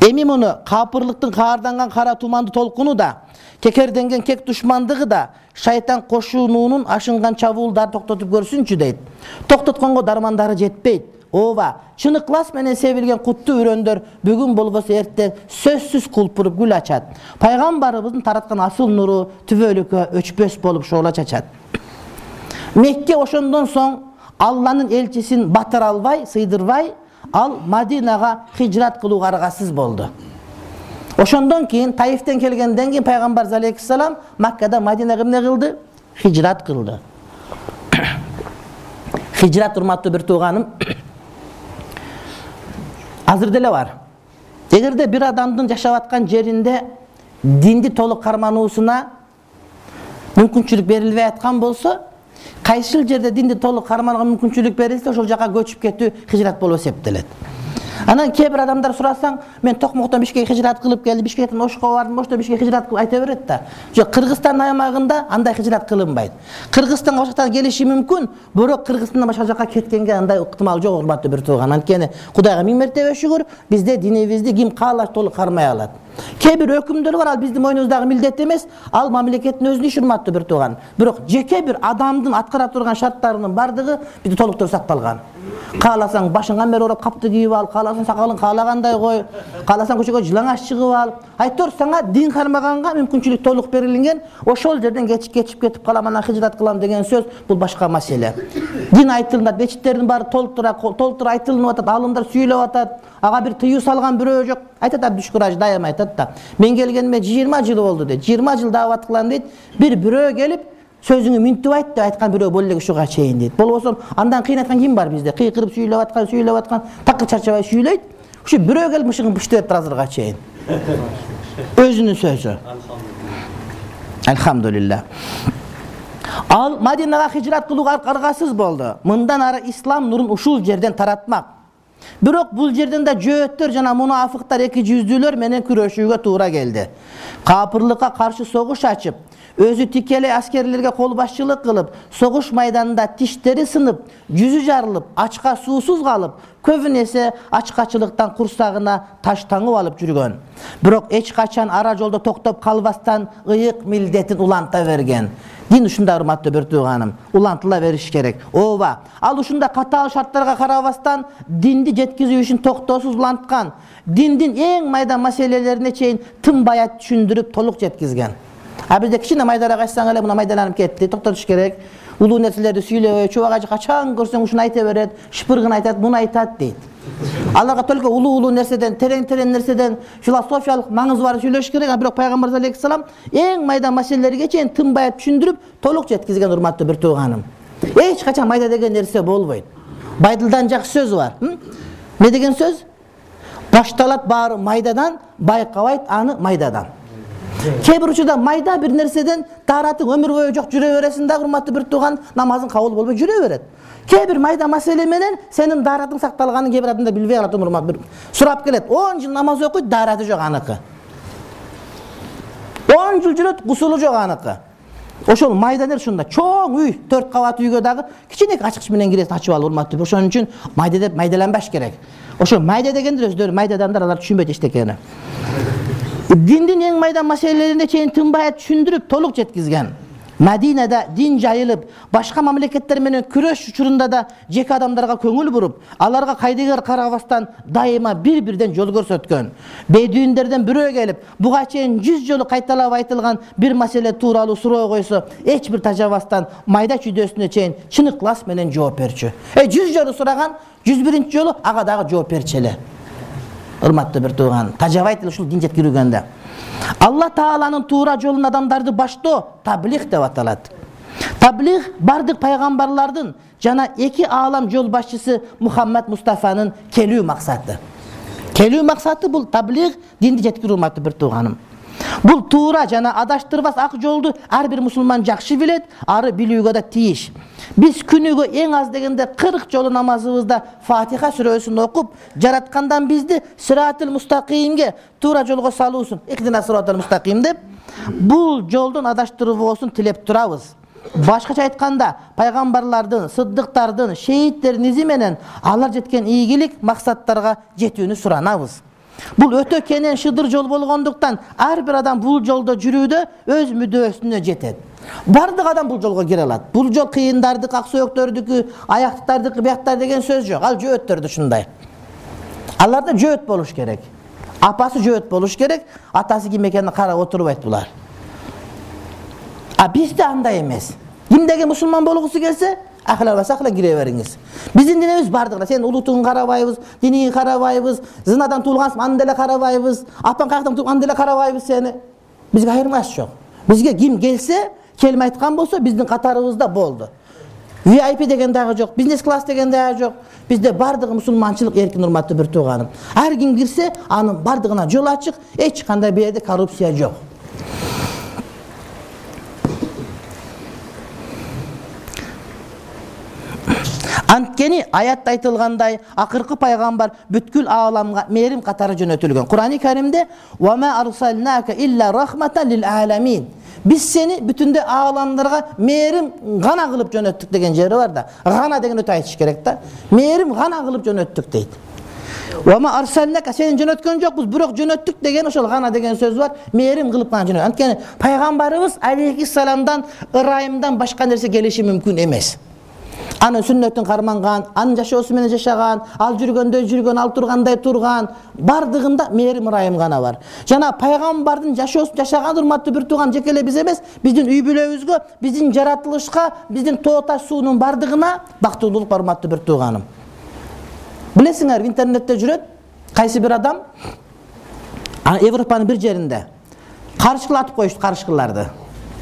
Эми муну капырлыктын каарданган кара туманды толкуну да, кекерденген кек душмандыгы да шайтан кошунуунун ашынган чабуулдарды токтотуп көрсүнчү дейт. Токтотконго дармандары жетпейт. Ооба, чыныклас менен себилген куттуу үрөндөр бүгүн болбосо эртең сөзсүз кулпуруп гүл ачат. Пайгамбарыбыздын тараткан асыл нуру түбөлүккө өчпөс болуп шоола чачат. Мекке ошондон соң Алланын элчисин батыра албай, сыйдырбай, ал Мадинага хижрат кылууга аргасыз болду. Ошондон кийин Таифтен келгенден кийин пайгамбар алейхиссалам Маккада Мадинага эмне кылды? Хижрат кылды. Хижрат урматтуу бир тууганым, азыр деле бар. Эгерде бир адамдын жашап аткан жеринде динди толук кармануусуна мүмкүнчүлүк берилбей аткан болсо, кайсыл жерде динди толук карманууга мүмкүнчүлүк берилсе, ошол жака көчүп кетүү хижрат болуп эсептелет. Анан кээ бир адамдар сурасаң, мен Токмоктон Бишкекке хижрат кылып келдим, Бишкектен Ошко бардым, Ошто Бишкекке хижрат кылып айта берет да. Жок, Кыргызстан аймагында андай хижрат кылынбайт. Кыргызстанга башкадан келиши мүмкүн, бирок Кыргызстандан башка жака кеткенге андай ыктымал жок, урматтуу бир тууган. Анткени Кудайга миң мертебе шүгүр, бизде динибизди ким каалаш толук кармай алат. Кээ бир өкүмдөр бар, ал биздин мойнубуздагы милдет эмес, ал мамлекеттин өзүнүн иши, урматтуу бир тууган. Бирок жеке бир адамдын аткара турган шарттарынын бардыгы бизде толуктуу сакталган. Кааласаң башыңа мер ороп капты кийип ал, кааласаң сакалың каалагандай кой, кааласаң көчөгө жылаңаш чыгып ал. Айтор сага дин кармаганга мүмкүнчүлүк толук берилген. Ошол жерден кечип кечип кетип калам, анан хижрат кылам деген сөз бул башка маселе. Дин айтылат, мечиттердин баары толтура толтура айтылып атат, алымдар сүйлөп атат. Ага бир тыюу салган бирөө жок. Айтат Абдушкураж дайыма айтат да. Мен келгениме жыйырма жыл болду дейт. жыйырма жыл даават кылам дейт. Бир бирөө келип сөзүңү мүнтүп айт деп айткан бирөө боло элек ушуга чейин дейт. Болбосо андан кыйын айткан ким бар бизде? Кыйкырып сүйлөп аткан, сүйлөп аткан, такыр чарчабай сүйлөйт. Ушу бирөө келип мышыгын быштып атыр азырга чейин. Өзүнүн сөзү. Алхамдулилла. Ал Мадинага хижрат кылууга аргасыз болду. Мындан ары ислам нурун ушул жерден таратмак. Бирок бул жерден да жөөттөр жана мунафыктар эки жүздүүлөр менен күрөшүүгө туура келди. Капырлыкка каршы согуш ачып, өзү тикелей аскерлерге кол башчылык кылып, согуш майданында тиштери сынып, жүзү жарылып, ачка суусуз калып, көбүнесе ачкачылыктан курсагына таш таңып алып жүргөн. Бирок эч качан ара жолдо токтоп калбастан ыйык милдетин уланта берген. Дин ушундай, урматтуу бир тууганым, улантыла бериш керек. Ооба, ал ушундай катаал шарттарга карабастан динди жеткизүү үчүн токтоосуз уланткан. Диндин эң майда маселелерине чейин тынбай түшүндүрүп толук жеткизген. А бизде кичине майдараак айтсаң эле мына майдаланып кетти, токтотуш керек. Улуу нерселерди сүйлөбөй, чубак ажы качан көрсөң ушуну айта берет, шыпыргын айтат, муну айтат дейт. Аларга только улуу-улуу нерседен, терең-терең нерседен, философиялык маңызы бар сүйлөш керек. Бирок пайгамбар алейхиссалам эң майда маселелерге чейин тынбай түшүндүрүп, толук жеткизген, урматтуу бир тууганым. Эч качан майда деген нерсе болбойт. Байдылдан жакшы сөз бар. Не деген сөз? Башталат баары майдадан, байкабайт аны майдадан. Кээ бир учурда майда бир нерседен тааратың өмүр бою жок жүрө бересиң да, урматтуу бир тууган, намазың кабыл болбой жүрө берет. Кээ бир майда маселе менен сенин дааратың сакталганын кээ бир адамдар билбей калат, урмат бир сурап келет. он жыл намаз окуйт, даараты жок аныкы. он жыл жүрөт, гусулу жок аныкы. Ошол майда нерсе ушунда. Чоң үй, төрт кабат үйгө дагы кичине ачкыч менен киресиң, ачып ал, урматтуу. Ошон үчүн майда деп майдаланбаш керек. Ошо майда дегендер өздөрү майда адамдар, алар түшүнбөйт эчтекени. Диндин эң майда маселелерине чейин тынбай түшүндүрүп, толук жеткизген. Мадинада дин жайылып, башка мамлекеттер менен күрөш учурунда да жеке адамдарга көңүл буруп, аларга кайдыгер карабастан дайыма бир-бирден жол көрсөткөн. Бедуиндерден бирөө келип, буга чейин жүз жолу кайталап айтылган бир маселе тууралуу суроо койсо, эч бир тажабастан майда чүйдөсүнө чейин чынык-ылас менен жооп берчү. Э жүз жолу сураган, жүз биринчи жолу ага дагы жооп берчү эле. Урматтуу бир тууган, тажабайт ушул дин жеткирүүгөндө. Алла Тааланын туура жолун адамдарды баштоо таблих деп аталат. Таблих бардык пайгамбарлардын жана эки аалам жол башчысы Мухаммад Мустафанын келүү максаты. Келүү максаты бул таблих, динди жеткирүү, урматтуу бир тууганым. Бул туура жана адаштырбас ак жолду ар бир мусулман жакшы билет, ары билүүгө да тийиш. Биз күнүгө эң аз дегенде кырк жолу намазыбызда Фатиха сүрөсүн окуп, жараткандан бизди Сиратыл мустакимге, туура жолго салуусун, ихдина сиратал мустаким деп, бул жолдон адаштырбоосун тилеп турабыз. Башкача айтканда, пайгамбарлардын, сыддыктардын, шейттердин изи менен алар жеткен ийгилик максаттарга жетүүнү суранабыз. Бул өтө кенен шыдыр жол болгондуктан ар бир адам бул жолдо жүрүүдө өз мүдөөсүнө жетет. Бардык адам бул жолго кире алат. Бул жол кыйындардык, ак сөөктөрдүкү, аяктардык, бияктар деген сөз жок. Ал жөөттөрдү ушундай. Аларда жөөт болуш керек. Апасы жөөт болуш керек, атасы ким экенин карап отурбайт булар. А бизде андай эмес. Кимдеги мусулман болгусу келсе, ахлал баса ахлал кире бериңиз. Биздин динибиз бардыгына, сен улутуңун карабайбыз, динingin карабайбыз, зынадан туулгансың, аны деле карабайбыз, апаң каяктан туулган, аны деле карабайбыз сени. Бизге айырмаш жок. Бизге ким келсе, келме айткан болсо, биздин катарыбызда болду. ви ай пи деген дагы жок, бизнес класс деген дагы жок. Бизде бардыгы мусулманчылык эркин, урматтуу бир тууганым. Ар ким кирсе, анын бардыгына жол ачык, эч кандай бу жерде коррупция жок. Анткени аятта айтылгандай, акыркы пайгамбар бүткүл ааламга мээрим катары жөнөтүлгөн. Кур'ани Каримде "Ва ма арсалнака илля рахматан лил аламин". Биз сени бүтүндө ааламдарга мээрим гана кылып жөнөттүк деген жери бар да. Гана деген өтө айтыш керек да. Мээрим гана кылып жөнөттүк дейт. "Ва ма арсалнака" сени жөнөткөн жокпуз, бирок жөнөттүк деген ошол гана деген сөз бар. Мээрим кылып гана жөнөттүк. Анткени пайгамбарыбыз алейхиссаламдан ырайымдан башка нерсе келиши мүмкүн эмес. Анын сүннөтүн карманган, анын жашоосу менен жашаган, ал жүргөндөй жүргөн, ал тургандай турган, бардыгында мээрим ырайым гана бар. Жана пайгамбардын жашоосун жашаган урматтуу бир тууган жеке эле биз эмес, биздин үй бүлөбүзгө, биздин жаратылышка, биздин тоо таш суунун бардыгына бактылуулук бар урматтуу бир тууганым. Билесиңер, интернетте жүрөт кайсы бир адам Европанын бир жеринде карышкылатып коюшту, карышкыларды.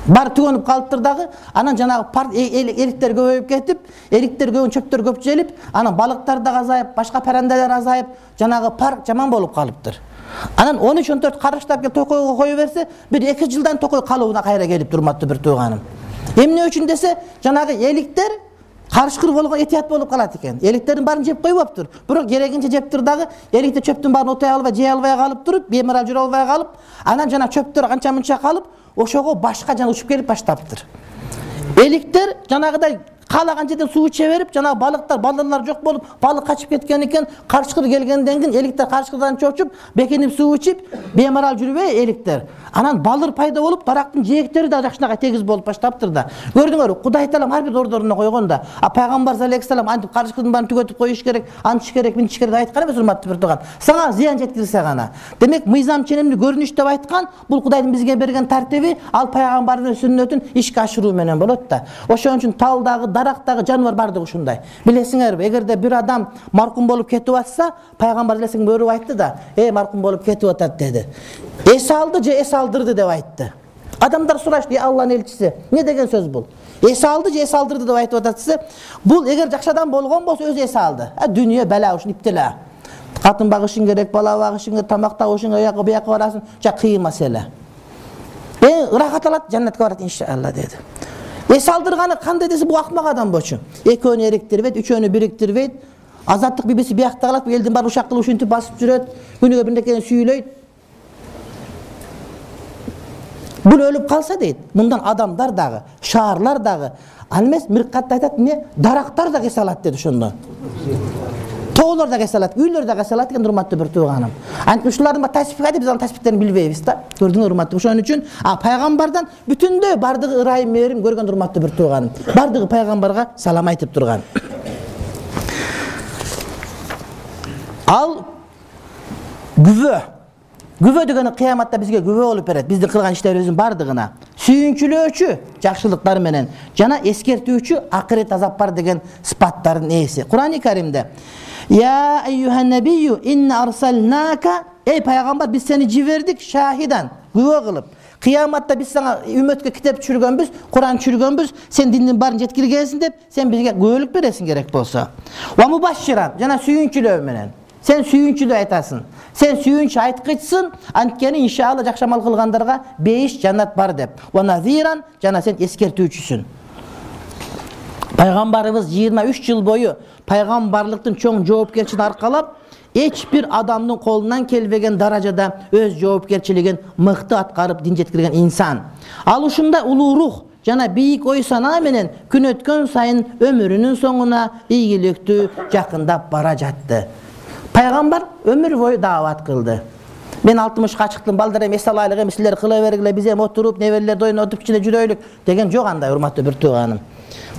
Бар түгөнүп калыптыр дагы, анан жанагы эриктер көбөйүп кетип, эриктер көбүн чөптөр көп желип, анан балыктар да азайып, башка паранделер азайып, жанагы парк жаман болуп калыптыр. Анан он үч он төрт карыштап келип токойго кое берсе, бир эки жылдан токой калыбына кайра келип урматтуу бир тууганым. Эмне үчүн десе, жанагы эликтер карышкыр болгон этият болуп калат экен. Эликтердин баарын жеп койбоптур. Бирок керегинче жептир дагы, эликте чөптүн баарын отой албай, жей албай калып туруп, бемарал жүрө албай калып, анан жана чөптөр канча мынча калып, ошого башка жана учуп келип баштаптыр. Эликтер жанагыдай каалаган жерден суу иче берип, жанагы балыктар, балдырлар жок болуп, балык качып кеткен экен, карышкыр келгенден кийин эликтер карышкырдан чочуп, бекинип суу ичип, бемарал жүрбөй эликтер. Анан балдыр пайда болуп, дарактын жээктери да жакшынакай тегиз болуп баштаптыр да. Көрдүңөр, Кудай Таалам ар бир ордоруна койгон да. А пайгамбар алейхиссалам антип карышкырдын баарын түгөтүп коюш керек, антыш керек, минтиш керек деп айткан эмес урматтуу бир тууган. Сага зыян жеткирсе гана. Демек, мыйзам ченемдүү көрүнүш деп айткан, бул Кудайдын бизге берген тартиби, ал пайгамбардын сүннөтүн ишке ашыруу менен болот да. Ошон үчүн талдагы, дарактагы жаныбар бардыгы ушундай. Билесиңерби, эгерде бир адам маркум болуп кетип атса, пайгамбар элесиң бөрүп айтты да, "Эй, маркум болуп кетип атат" деди. Эс алды же эс алдырды деп айтты. Адамдар сурашты, "Ey Алланын элчиси, эмне деген сөз бул? Эс алды же эс алдырды деп айтып атат?" Бул эгер жакшы адам болгон болсо өзү эс алды. А дүйнө бала ушун иптила. Катын багышың керек, бала багышың керек, тамак табышың, аяка бияка барасың, жа кыйын маселе. Эң ырахат алат, жаннатка барат иншалла деди. Эс алдырганы кандай десе, бул акмак адам болчу. Экөөнү эриктирбейт, үчөөнү бириктирбейт. Азаттык бибиси биякта калат, элдин баары ушак кылып ушинтип басып жүрөт, күнүгө бир нерсени сүйлөйт. Бул өлүп калса дейт, мындан адамдар дагы, шаарлар дагы, ал эмес Миркатта айтат, эмне, дарактар да кесе алат деди ошондон. Тоолор да кесе алат, үйлөр да кесе алат экен урматтуу бир тууганым. Антип ушулардын ба таспикаты, биз анын таспиктерин билбейбиз да. Көрдүңөр урматтуу. Ошон үчүн а пайгамбардан бүтүндөй бардыгы ырайым мээрим көргөн урматтуу бир тууганым. Бардыгы пайгамбарга салам айтып турган. Ал күбө. Күбө деген кыяматта бизге күбө болуп берет, биздин кылган иштерибиздин бардыгына. Сүйүнчүлөөчү жакшылыктар менен жана эскертүүчү акырет азап бар деген сыпаттардын ээси. Кур'ани Каримде "Я айюхан набийю инна арсалнака" Эй пайгамбар, биз сени жибердик шахидан, күбө кылып. Кыяматта биз сага үммөткө китеп түшүргөнбүз, Кур'ан түшүргөнбүз, сен диндин баарын жеткиргенсиң деп, сен бизге күбөлүк бересиң керек болсо. Ва мубашширан, жана сүйүнчүлөө менен. Сен сүйүнчүлүү айтасың. Сен сүйүнчү айткычсың, анткени иншалла жакшы амал кылгандарга бейиш жаннат бар деп. Ва назиран, жана сен эскертүүчүсүн. Пайгамбарыбыз жыйырма үч жыл бою пайгамбарлыктын чоң жоопкерчилигин аркалап, эч бир адамдын колунан келбеген даражада өз жоопкерчилигин мыкты аткарып дин жеткирген инсан. Ал ушундай улуу рух жана бийик ой санаа менен күн өткөн сайын өмүрүнүн соңуна ийгиликтүү жакындап бара жатты. Пайгамбар өмүр бою даават кылды. Мен алтымышка чыктым, балдар эми эс алайлык эми силер кыла бергиле, биз эми отуруп, неберелерди ойнотуп кичине жүрөйлүк деген жок андай урматтуу бир тууганым.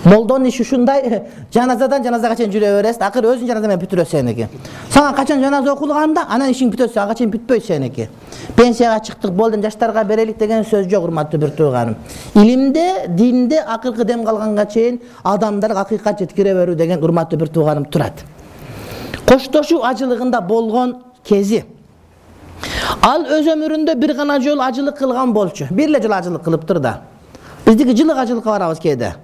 Молдонун иши ушундай, жаназадан жаназага чейин жүрө бересиң, акыры өзүң жаназа менен бүтүрөт сеники. Сага качан жаназа окулганда, анан ишиң бүтөт, ага чейин бүтпөйт сеники. Пенсияга чыктык, болду, жаштарга берелик деген сөз жок урматтуу бир тууганым. Илимде, динде акыркы дем калганга чейин адамдарга акыйкат жеткире берүү деген урматтуу бир тууганым турат. Коштошуу ажылыгында болгон кези. Ал өз өмүрүндө бир гана жолу ажылык кылган болчу. Бир эле жолу ажылык кылыптыр да. Биздики жылык ажылыкка барабыз кээде.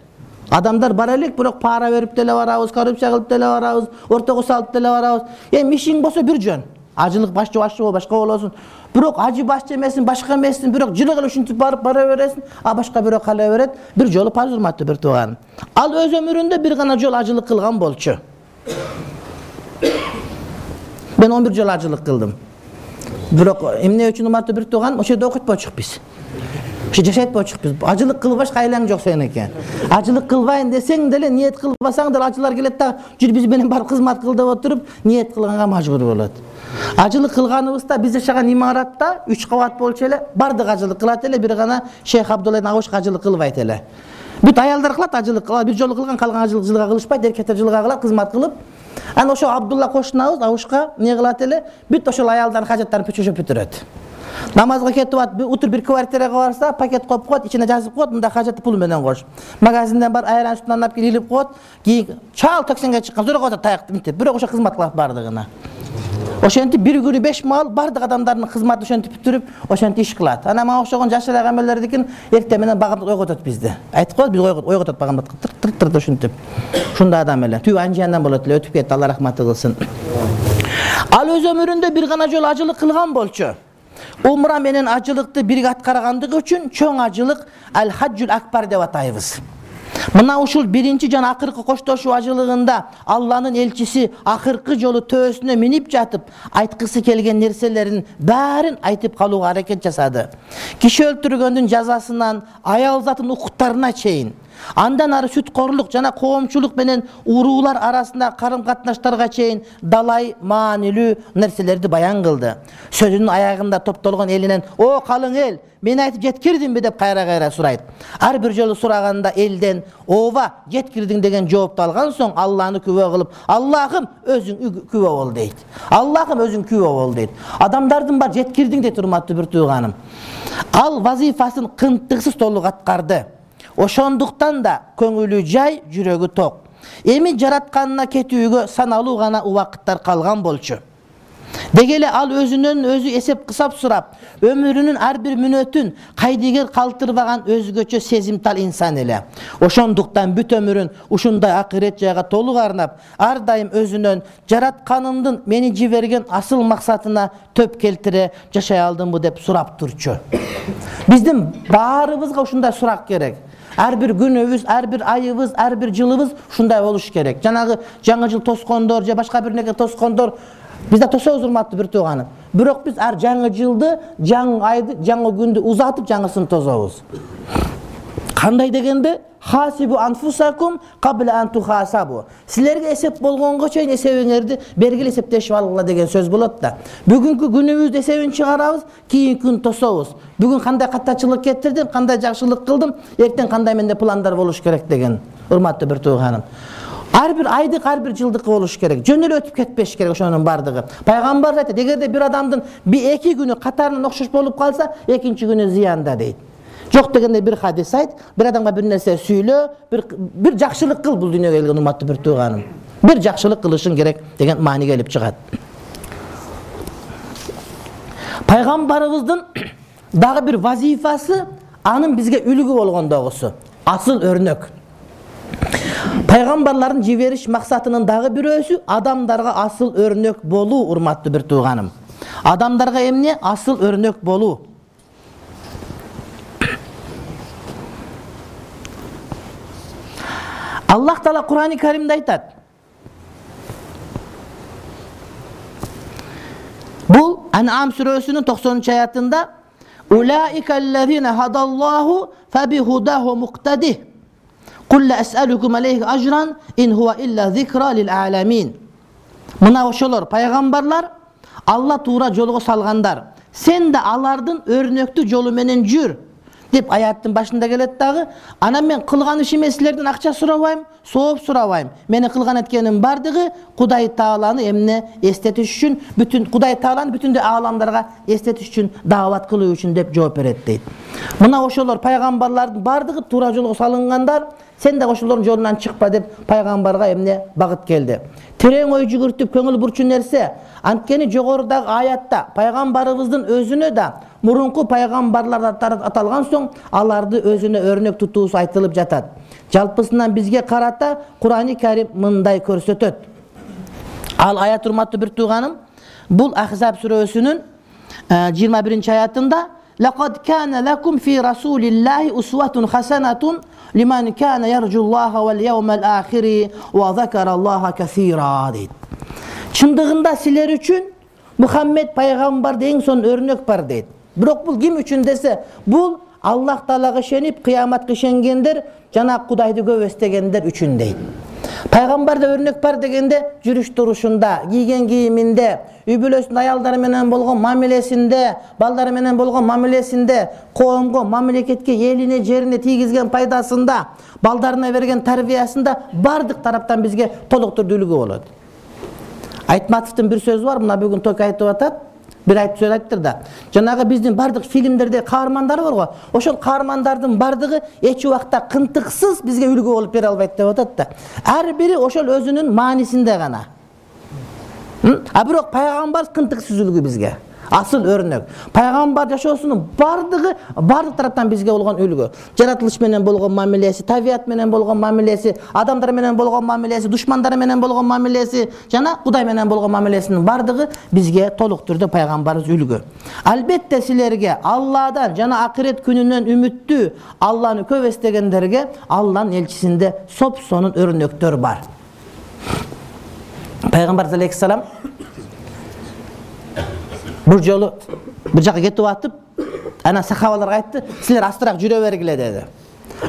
Адамдар бара элек, бирок пара берип деле барабыз, коррупция кылып деле барабыз, ортого салып деле барабыз. Эми ишиң болсо бир жөн. Ажылык башчы башчы бол, башка болосуң. Бирок ажы башчы эмесин, башка эмесин, бирок жылы кылып ушинтип барып бара бересиң, а башка бирок кала берет. Бир жолу парз урматтуу бир тууган. Ал өз өмүрүндө бир гана жол ажылык кылган болчу. Мен он бир жол ажылык кылдым. Бирок эмне үчүн урматтуу бир тууган, ошо жерде окутпочук биз. Ошо жашайтпочук биз. Ажылык кылбаш кайлаң жок сен экен. Ажылык кылбайын десең деле, ниет кылбасаң деле ажылар келет да, жүр биз менен барып кызмат кыл деп отуруп, ниет кылганга мажбур болот. Ажылык кылганыбызда биз жашаган имаратта үч кабат болчу эле, бардык ажылык кылат эле, бир гана Шейх Абдулла Авуш ажылык кылбайт эле. Бүт аялдар кылат ажылык, бир жолу кылган, калган ажылык жылга кылышпайт, эркектер жылга кылат, кызмат кылып. Аны ошо Абдулла кошунабыз Авушка эмне кылат эле, бүт ошол аялдардын хажаттарын пүчөшөп бүтүрөт. Намазга кетип атып, утур бир квартирага барса, пакет коюп коет, ичине жазып коет, мында хажатты пул менен кош. Магазинден бар айран сүтүн алып келип илип коет, кийин чал таксиге чыккан, зора коет таякты мынтип, бирок ошо кызмат кылат бардыгына. Ошентип бир күнү беш маал бардык адамдардын кызматын ошентип бүтүрүп, ошентип иш кылат. Анан мага окшогон жашыраак эмелердикин эртең менен багамдат ойготот бизди. Айтып коет, биз ойготот багамдат тыр-тыр ушинтип. Ушундай адам эле. Түбү анжандан болот эле, өтүп кетти, Алла рахматы кылсын. Ал өз өмүрүндө бир гана жолу ажылык кылган болчу. Умра менен ажылыкты бирге аткаргандыгы үчүн чоң ажылык Ал-Хаджул Акбар деп атайбыз. Мына ушул биринчи жана акыркы коштошуу ажылыгында Алланын элчиси акыркы жолу төөсүнө минип жатып, айткысы келген нерселерин баарын айтып калууга аракет жасады. Киши өлтүргөндүн жазасынан аял затын укуктарына чейин, андан ары сүткорлук жана коомчулук менен уруулар арасында карым-катнаштарга чейин далай маанилүү нерселерди баян кылды. Сөзүнүн аягында топтолгон элинен: "О калың эл, мен айтып жеткирдимби?" деп кайра-кайра сурайт. Ар бир жолу сураганда элден "Ооба, жеткирдиң" деген жоопту алган соң Алланы күбө кылып: "Аллахым, өзүң күбө бол" дейт. Аллахым, өзүң күбө бол дейт. Адамдардын бар жеткирдиң дейт, урматтуу бир тууганым. Ал вазифасын кынтыксыз толук аткарды. Ошондуктан да көңүлү жай, жүрөгү ток. Эми жаратканына кетүүгө саналуу гана убакыттар калган болчу. Деги эле ал өзүнөн өзү эсеп кысап сурап, өмүрүнүн ар бир мүнөтүн кайдыгер калтырбаган өзгөчө сезимтал инсан эле. Ошондуктан бүт өмүрүн ушундай акырет жайга толук арнап, ар дайым өзүнөн жаратканымдын мени жиберген асыл максатына төп келтире жашай алдымбы деп сурап турчу. Биздин баарыбызга ушундай сурак керек. Ар бир күнүбүз, ар бир айыбыз, ар бир жылыбыз ушундай болуш керек. Жанагы жаңы жыл тоскондор же башка бир неге тоскондор бизде тособуз, урматтуу бир тууганым. Бирок биз ар жаңы жылды, жаңы айды, жаңы күндү узатып жаңысын тособуз. Кандай дегенде? Хасибу анфусакум кабла ан тухасабу. Силерге эсеп болгонго чейин эсебиңерди бергиле эсептешип алгыла деген сөз болот да. Бүгүнкү күнүбүздү эсебин чыгарабыз, кийинки күн тособуз. Бүгүн кандай каттачылык кетирдим, кандай жакшылык кылдым, эртең кандай менде пландар болуш керек деген, урматтуу бир тууганым. Ар бир айдык, ар бир жылдык болуш керек. Жөн эле өтүп кетпеш керек ошонун бардыгы. Пайгамбар айтат, эгерде бир адамдын бир эки күнү катарынан окшош болуп калса, экинчи күнү зыянда дейт. Жок дегенде бир хадис айт, бир адамга бир нерсе сүйлө, бир бир жакшылык кыл бул дүйнөгө келген урматтуу бир тууганым. Бир жакшылык кылышың керек деген маани келип чыгат. Пайгамбарыбыздын дагы бир вазифасы анын бизге үлгү болгондогусу, асыл өрнөк. Пайгамбарлардын жибериш максатынын дагы бирөөсү адамдарга асыл өрнөк болуу, урматтуу бир тууганым. Адамдарга эмне? Асыл өрнөк болуу. Аллах Таала Кур'ан-ы Каримде айтат. Бул Ан'ам сүрөсүнүн токсонунчу аятында: "Улаикаллазина хадаллаху фабихудаху муктадих. Кул ла ас'алукум алейхи ажран ин хуа илля зикра лил аламин." Мына ошолор пайгамбарлар, Алла туура жолго салгандар. Сен да алардын өрнөктүү жолу менен жүр деп аяттын башында келет дагы. Анан мен кылган ишиме силерден акча сурабайм, сооп сурабайм. Мени кылган эткеним бардыгы Кудай Тааланы эмне эстетиш үчүн, бүтүн Кудай Тааланы бүтүндөй ааламдарга эстетиш үчүн, даават кылуу үчүн деп жооп берет дейт. Мына ошолор пайгамбарлардын бардыгы туура жолго салынгандар. Сен да ошолордун жолунан чыкпа деп пайгамбарга эмне багыт келди. Терең ой жүгүртүп көңүл бурчу нерсе, анткени жогорудагы аятта пайгамбарыбыздын өзүнө да мурунку пайгамбарлар аталган соң аларды өзүнө өрнөк тутуусу айтылып жатат. Жалпысынан бизге карата Кур'ан-ы Карим мындай көрсөтөт. Ал аят, урматтуу бир тууганым, бул Ахзаб сүрөсүнүн жыйырма биринчи аятында لقد كان لكم في رسول الله أسوة حسنة لمن كان يرجو الله واليوم الآخر وذكر الله كثيرا дейт. Чындыгында силер үчүн Мухаммед пайгамбарда эң сонун өрнөк бар дейт. Бирок бул ким үчүн десе, бул Аллах Таалага ишенип, кыяматка ишенгендер жана Кудайды көп эстегендер үчүн дейт. Пайгамбарда өрнөк бар дегенде жүрүш турушунда, кийген кийиминде, үй бүлөсүнүн аялдары менен болгон мамилесинде, балдары менен болгон мамилесинде, коомго, мамлекетке, элине, жерине тийгизген пайдасында, балдарына берген тарбиясында бардык тараптан бизге толук түрдүү үлгү болот. Айтматовдун бир сөзү бар, мына бүгүн ток айтып атат. Бир айтып сөз айттыр да. Жанагы биздин бардык фильмдерде каармандар бар го. Ошол каармандардын бардыгы эч убакта кынтыксыз бизге үлгү болуп бере албайт деп атат да. Ар бири ошол өзүнүн маанисинде гана. А бирок пайгамбар кынтыксыз үлгү бизге. Асыл өрнөк. Пайгамбар жашоосунун бардыгы бардык тараптан бизге болгон үлгү. Жаратылыш менен болгон мамилеси, табият менен болгон мамилеси, адамдар менен болгон мамилеси, душмандары менен болгон мамилеси жана Кудай менен болгон мамилесинин бардыгы бизге толук түрдө пайгамбарыбыз үлгү. Албетте силерге Алладан жана акырет күнүнөн үмүттүү, Алланы көп эстегендерге Алланын элчисинде соп-сонун өрнөктөр бар. Пайгамбар алейхиссалам бир жолу бир жака кетип атып, ана сахабаларга айтты, силер астыраак жүрө бергиле деди.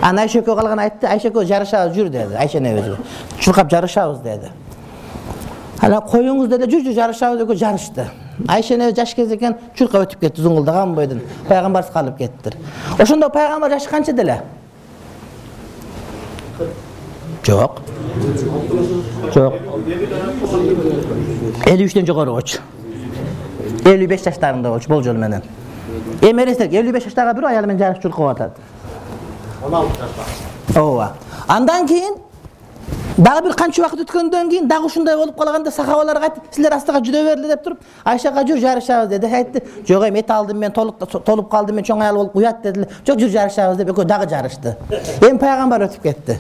Ана Айша экөө калган айтты, Айша экөө жарышабыз жүр деди. Айша небеси. Чуркап жарышабыз деди. Ана коюңуз деди, жүр жүр жарышабыз экөө жарышты. Айша небеси жаш кез экен, чуркап өтүп кетти зуңгулдаган бойдон. Пайгамбарсыз калып кеттир. Ошондо пайгамбар жашы канча деле? Жок. Жок. элүү үчтөн жогору болчу. элүү беш жаштарында болчу болжол менен. Эми элестет, элүү беш жаштагы бир аялы менен жарыш чуркап атат. он алты жашта. Ооба. Андан кийин дагы бир канча убакыт өткөндөн кийин дагы ушундай болуп калганда сахабаларга айтты, силер астыга жүрө берле деп туруп, Айшага жүр жарышабыз деди. Айтты, жок эми эт алдым мен, толук толуп калдым мен, чоң аял болуп уят дедилер. Жок жүр жарышабыз деп экөө дагы жарышты. Эми пайгамбар өтүп кетти.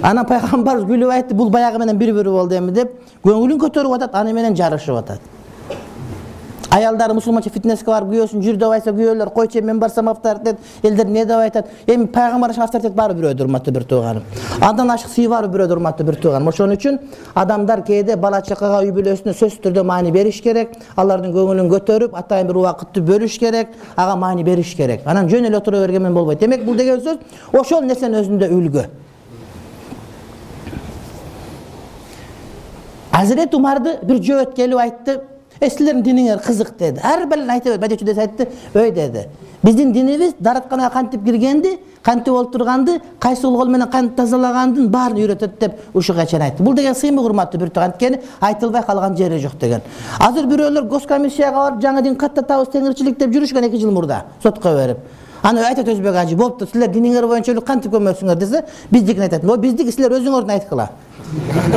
Анан пайгамбар күлүп айтты, бул баягы менен бири-бири болду эми деп, көңүлүн көтөрүп атат, аны менен жарышып атат. Аялдары мусулманча фитнеске барып күйөөсүн жүр деп айтса, күйөөлөр койчу мен барсам авторитет, элдер эмне деп айтат. Эми пайгамбар авторитет баары бирөөдүр, урматтуу бир тууганым. Андан ашык сый баары бирөөдүр, урматтуу бир тууганым. Ошон үчүн адамдар кээде бала чакага, үй бүлөсүнө сөзсүз түрдө маани бериш керек, алардын көңүлүн көтөрүп, атайын бир убакытты бөлүш керек, ага маани бериш керек. Анан жөн эле отура берген менен болбойт. Демек бул деген сөз ошол нерсенин өзүндө үлгү. Азирет Умарды бир жөөт келип айтты, "Силердин диниңер кызык" деди. Ар бир айтып, бадечи десе айтты, "Өй" деди. Биздин динибиз даратканага кантип киргенди, кантип олтурганды, кайсы кол менен кантип тазалагандын баарын үйрөтөт деп ушуга чейин айтты. Бул деген сыймык, урматтуу бир тууган, анткени айтылбай калган жери жок деген. Азыр бирөөлөр госкомиссияга барып, жаңы дин каттатабыз, теңирчилик деп жүрүшкөн эки жыл мурда сотко берип. Аны айтат Өзбек ажы, "Болупту, силер диниңер боюнча эле кантип көмөсүңөр" десе, биздикин айтат. "О, биздики силер өзүңөрдүн айткыла.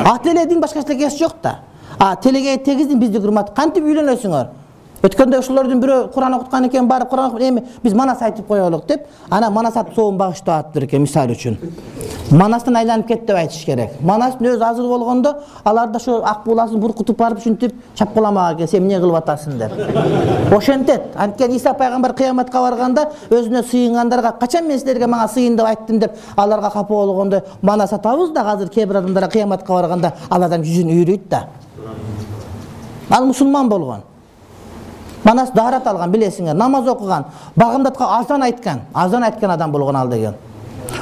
Ат эле дин башка эч жок да. А телеге тегиздин бизди урмат, кантип үйлөнөсүңөр? Өткөндө ошолордун бирөө Куран окуткан экен, барып Куран окуп, эми биз Манас айтып коелук деп, ана Манас ат соон багыштап атыптыр экен, мисалы үчүн. Манастан айланып кетти деп айтыш керек. Манастын өзү азыр болгондо, алар да ошо ак буласын буркутуп барып ушинтип чапкыламак экен, сен эмне кылып атасың деп. Ошентет. Анткени Иса пайгамбар кыяматка барганда өзүнө сыйынгандарга, качан мен силерге мага сыйын деп айттым деп, аларга капа болгондо Манас атабыз да азыр кээ бир адамдар кыяматка барганда алардан жүзүн үйрөйт да. Ал мусулман болгон. Манас даарат алган, билесиңер, намаз окуган, багымдаткан, азан айткан, азан айткан адам болгон ал деген.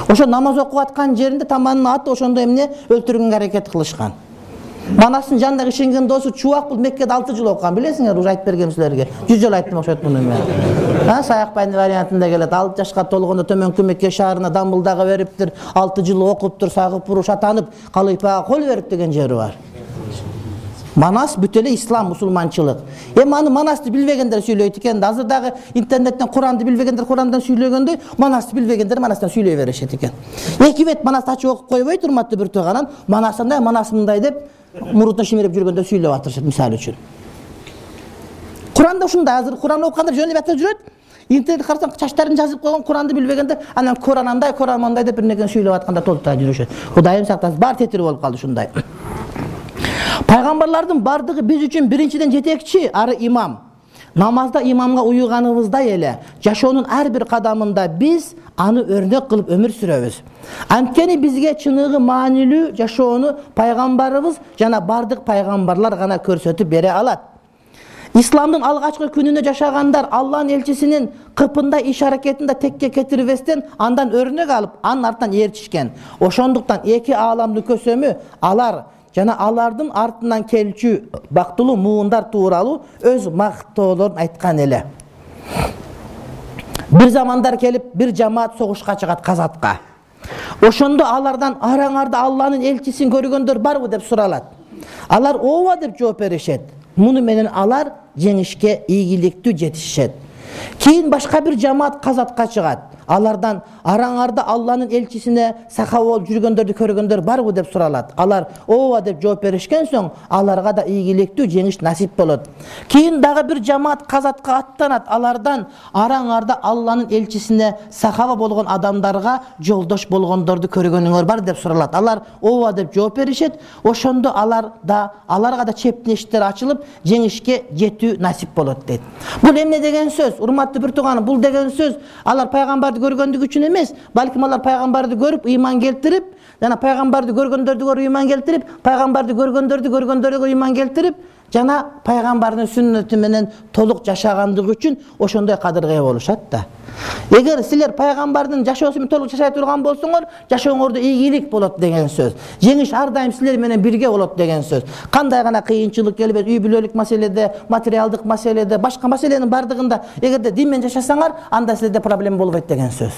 Ошо намаз окуп аткан жеринде таманын аты ошондо эмне өлтүргөнгө аракет кылышкан. Манастын жанындагы ишенген досу Чубак бул Меккеде алты жыл окуган, билесиңер, уже айтып бергем силерге. жүз жыл айттым ошот муну мен. Ha, Саякбайдын вариантында келет. алты жашка толгондо төмөнкү Мекке шаарына дамбылдагы бериптир, алты жыл окуптур, сагып буруш атанып, калыйпага кол берип деген жери бар. Манас бүт эле ислам, мусулманчылык. Эми аны Манасты билбегендер сүйлөйт экен. Азыр дагы интернеттен Куранды билбегендер Курандан сүйлөгөндөй, Манасты билбегендер Манастан сүйлөй беришет экен. Эки бет Манасты ачып окуп койбойт, урматтуу бир тууганан, Манасындай, Манас мындай деп мурутун шимирип жүргөндө сүйлөп атышат, мисалы үчүн. Куранда ушундай, азыр Куран окугандар жөн эле атып жүрөт. Интернет карасаң, чачтарын жазып койгон, Куранды билбегендер, анан Куран андай, Куран мындай деп бир нерсени сүйлөп атканда толтура жүрүшөт. Кудайым сактасын, бар тетири болуп калды ушундай. Пайгамбарлардын бардыгы биз үчүн биринчиден жетекчи, ары имам. Намазда имамга уйганыбыздай эле жашоонун ар бир кадамында биз аны өрнөк кылып өмүр сүрөбүз. Анткени бизге чыныгы маанилүү жашоону пайгамбарыбыз жана бардык пайгамбарлар гана көрсөтүп бере алат. Исламдын алгачкы күнүндө жашагандар Аллахнын элчисинин кыпында иш аракетинде текке кетирбестен андан өрнөк алып, анын артынан ээрчишкен. Ошондуктан эки ааламдын көсөмү алар жана алардын артынан келчү бактылуу муундар тууралуу өз мактоолорун айткан эле. Бир замандар келип, бир жамаат согушка чыгат Казатка. Ошондо алардан араңарда Алланын элчисин көргөндөр барбы деп суралат. Алар ооба деп жооп беришет. Муну менен алар жеңишке ийгиликтүү жетишет. Кийин башка бир жамаат Казатка чыгат. Алардан араңарда Алланын элчисине саха болуп жүргөндөрдү көргөндөр барбы деп суралат. Алар ооба деп жооп беришкен соң аларга да ийгиликтүү жеңиш насип болот. Кийин дагы бир жамаат Казатка аттанат. Алардан араңарда Алланын элчисине сахаба болгон адамдарга жолдош болгондорду көргөнүңөр бар деп суралат. Алар ооба деп жооп беришет. Ошондо алар да аларга да чептин эшиктери ачылып, жеңишке жетүү насип болот дейт. Бул эмне деген сөз? Урматтуу бир тууганым, бул деген сөз алар пайгамбарды көргөндүгү үчүн эмес, балким алар пайгамбарды көрүп ыйман келтирип, жана пайгамбарды көргөндөрдү көрүп ыйман келтирип, пайгамбарды көргөндөрдү көргөндөргө ыйман келтирип, жана пайгамбардын сүннөтү менен толук жашагандыгы үчүн ошондой кадырга ээ болушат да. Эгер силер пайгамбардын жашоосу менен толук жашай турган болсоңор, жашооңордо ийгилик болот деген сөз. Жеңиш ар дайым силер менен бирге болот деген сөз. Кандай гана кыйынчылык келбес, үй бүлөлүк маселеде, материалдык маселеде, башка маселенин бардыгында эгерде дин менен жашасаңар, анда силерде проблема болбойт деген сөз.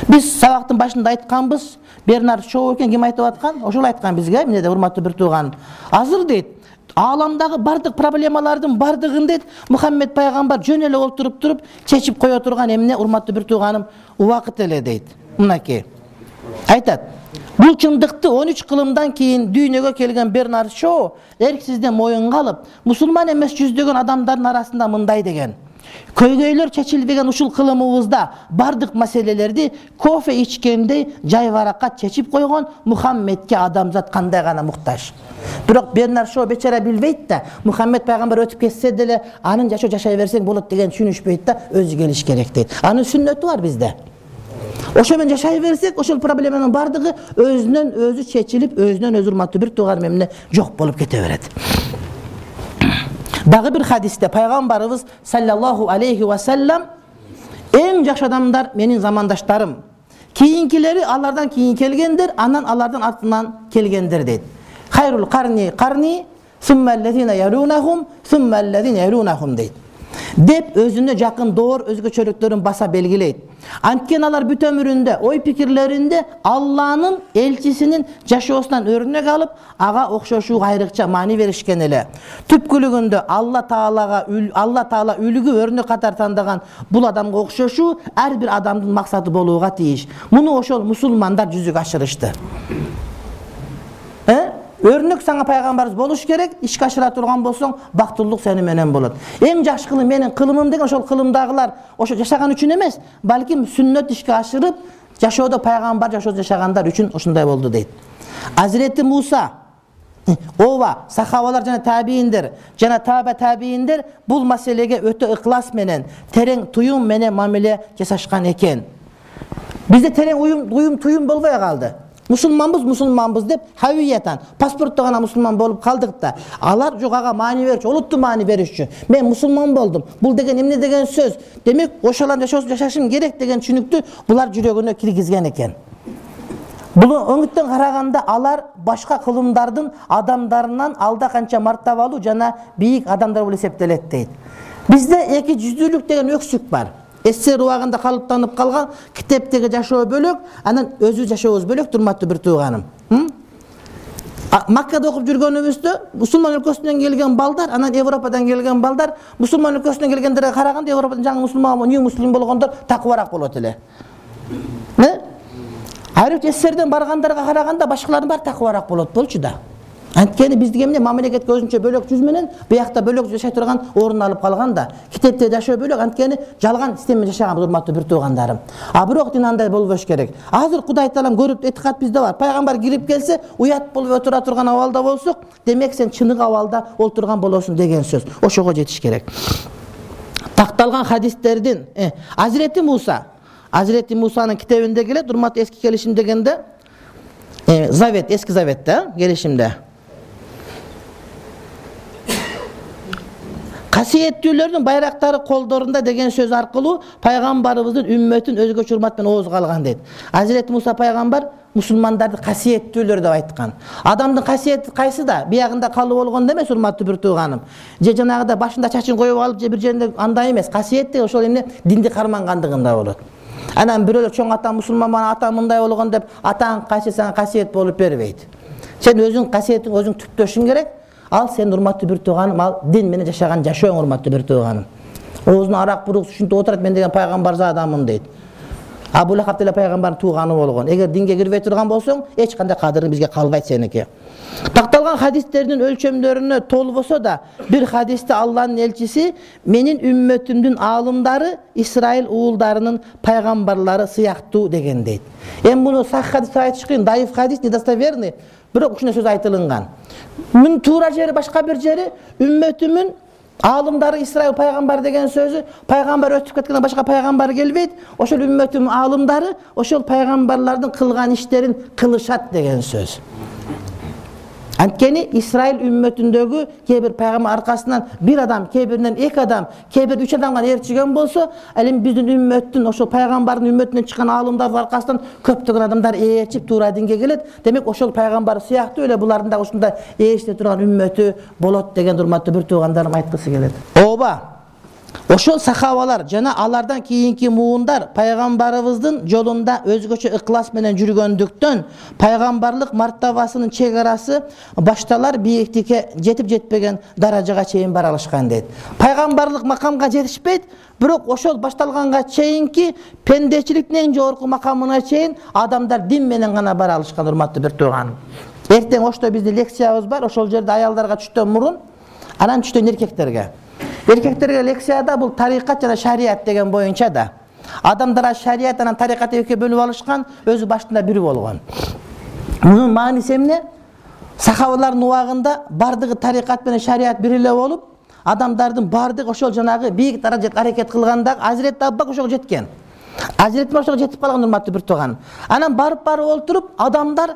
Биз сабактын башында айтканбыз, Бернард Шоу экен, ким айтып аткан? Ошол айткан бизге, эмне деп, урматтуу бир тууганым. Азыр дейт, ааламдагы бардык проблемалардын бардыгын дейт, Мухаммед пайгамбар жөн эле олтуруп туруп чечип кое турган эмне, урматтуу бир тууганым, убакыт эле дейт. Мынакей. Айтат. Бул чындыкты он үч кылымдан кийин дүйнөгө келген Бернард Шоу эрксизден моюнга алып, мусулман эмес жүздөгөн адамдардын арасында мындай деген: көйгөйлөр чечилбеген ушул кылымыбызда бардык маселелерди кофе ичкендей жайбаракат чечип койгон Мухаммедке адамзат кандай гана муктаж. Бирок Бернард Шоу бечара билбейт да, Мухаммед пайгамбар өтүп кетсе деле анын жашоо жашай берсең болот деген түшүнүшпөйт да, өзү келиш керек дейт. Анын сүннөтү бар бизде. Ошо менен жашай берсек, ошол проблеманын бардыгы өзүнөн өзү чечилип, өзүнөн өзү урматтуу бир тууганым эмне жок болуп кете берет. Дагы бир хадисте пайгамбарыбыз саллаллаху алейхи ва саллам эң жакшы адамдар менин замандаштарым. Кийинкилери алардан кийин келгендер, анан алардан артынан келгендер дейт. Хайрул карни карни, сумма аллазина ярунахум, сумма аллазина ярунахум дейт. Деп өзүнө жакын доор өзгөчөлүктөрүн баса белгилейт. Анткени алар бүт өмүрүндө, ой пикирлеринде Алланын элчисинин жашоосунан өрнөк алып, ага окшошууга айрыкча маани беришкен эле. Түпкүлүгүндө Алла Таалага Алла Таала үлгү өрнөк катар тандаган бул адамга окшошуу ар бир адамдын максаты болууга тийиш. Муну ошол мусулмандар жүзүгө ашырышты. Э? Өрнөк саңа пайгамбарыбыз болуш керек, ишке ашыра турган болсоң, бактылуулук сени менен болот. Эң жакшы кылым менин кылымым деген ошол кылымдагылар ошо жашаган үчүн эмес, балким сүннөт ишке ашырып, жашоодо пайгамбар жашоодо жашагандар үчүн ушундай болду дейт. Азирети Муса, ооба, сахабалар жана табииндер, жана таба табииндер бул маселеге өтө ыклас менен, терең туюм менен мамиле жасашкан экен. Бизде терең уюм, уюм туюм болбой калды. Мусулманбыз, мусулманбыз деп хавиятан, паспортто гана мусулман болуп калдык да. Алар жок, ага маани берчү, олутту маани беришчү. Мен мусулман болдум. Бул деген эмне деген сөз? Демек, ошолар жашоосун жашашым керек деген түшүнүктү булар жүрөгүнө киргизген экен. Бул өңүттөн караганда алар башка кылымдардын адамдарынан алда канча мартабалуу жана бийик адамдар болуп эсептелет дейт. Бизде эки жүздүүлүк деген өксүк бар. СССР убагында калыптанып калган китептеги жашоо бөлөк, анан өзү жашообуз бөлөк, урматтуу бир тууганым. Маккада окуп жүргөнүбүздө мусулман өлкөсүнөн келген балдар, анан Европадан келген балдар, мусулман өлкөсүнөн келгендерге караганда Европадан жаңы мусулман, нью муслим болгондор такыбараак болот эле. Э? Айрып СССРден баргандарга караганда башкалардын баары такыбараак болот болчу да. Анткени биздики эмне мамлекетке өзүнчө бөлөк жүз менен биякта бөлөк жашай турган орун алып калган да. Китепте жашоо бөлөк, анткени жалган система жашаган урматтуу бир туугандарым. А бирок дин андай болбош керек. Азыр Кудай таалам көрүп этикат бизде бар. Пайгамбар кирип келсе, уят болуп отура турган абалда болсок, демек сен чыныгы абалда олтурган болосуң деген сөз. Ошого жетиш керек. Такталган хадистердин Азирети Муса, Азирети Мусанын китебинде келет, урматтуу эски келишим дегенде, Завет, эски Заветте, келишимде. Касиеттүүлөрдүн байрактары колдорунда деген сөз аркылуу пайгамбарыбыздын үммөтүн өзгөчө урмат менен оозго алган дейт. Азирети Муса пайгамбар мусулмандарды касиеттүүлөр деп айткан. Адамдын касиети кайсы да? Биягында калып болгондо эмес, урматтуу бир тууганым. Же жанагыда башында чачын коюп алып, же бир жеринде андай эмес. Касиет деген ошол эмне динди кармангандыгында болот. Анан бирөөлөр чоң ата мусулман, ата мындай болгон деп атаң кайсы сага касиет болуп бербейт. Сен өзүң касиетиң өзүң түптөшүң керек. Ал сен урматтуу бир тууганым, ал дин менен жашаган жашооң урматтуу бир тууганым. Оозуна арак бурук ушинтип отурат, мен деген пайгамбар адаммын дейт. Абу Лахаб деле пайгамбардын тууганы болгон. Эгер динге кирбей турган болсоң, эч кандай кадырың бизге калбайт сеники. Такталган хадистердин өлчөмдөрүнө толбосо да, бир хадисте Алланын элчиси менин үммөтүмдүн аалымдары Исраил уулдарынын пайгамбарлары сыяктуу деген дейт. Эми муну сах хадис айтыш кыйын, даиф хадис, недостоверный. Бирок ушундай сөз айтылынган. Мун туура жери башка бир жери үммөтүмүн аалымдары Исраил пайгамбар деген сөзү, пайгамбар өтүп кеткенден башка пайгамбар келбейт. Ошол үммөтүмүн аалымдары ошол пайгамбарлардын кылган иштерин кылышат деген сөз. Анткени Исраил үммөтүндөгү кээ бир пайгамбар аркасынан бир адам, кээ биринен эки адам, кээ бир үч адамга ээрчиген болсо, ал эми биздин үммөттүн ошол пайгамбардын үммөтүнөн чыккан аалымдардын аркасынан көптөгөн адамдар ээрчип туура динге келет. Демек ошол пайгамбар сыяктуу эле булардын да ушундай ээрчите турган үммөтү болот деген урматтуу бир туугандарым айткысы келет. Ооба. Ошол сахабалар жана алардан кийинки муундар пайгамбарыбыздын жолунда өзгөчө ыклас менен жүргөндүктөн пайгамбарлык мартабасынын чек арасы башталар бийиктикке жетип жетпеген даражага чейин бара алышкан дейт. Пайгамбарлык макамга жетишпейт, бирок ошол башталганга чейинки пендечиликтин эң жогорку макамына чейин адамдар дин менен гана бара алышкан, урматтуу бир тууганым. Эртең ошто биздин лекциябыз бар, ошол жерде аялдарга түштөн мурун, анан түштөн эркектерге. Эркектерге лекцияда бул тарикат жана шарият деген боюнча да. Адамдар шарият анан тарикат экиге бөлүп алышкан, өзү башында бири болгон. Мунун мааниси эмне? Сахабалардын убагында бардыгы тарикат менен шарият бир эле болуп, адамдардын бардыгы ошол жанагы бийик даражага аракет кылганда Азирет Аббак ошого жеткен. Азирет ошого жетип калган, урматтуу бир тууган. Анан барып барып олтуруп, адамдар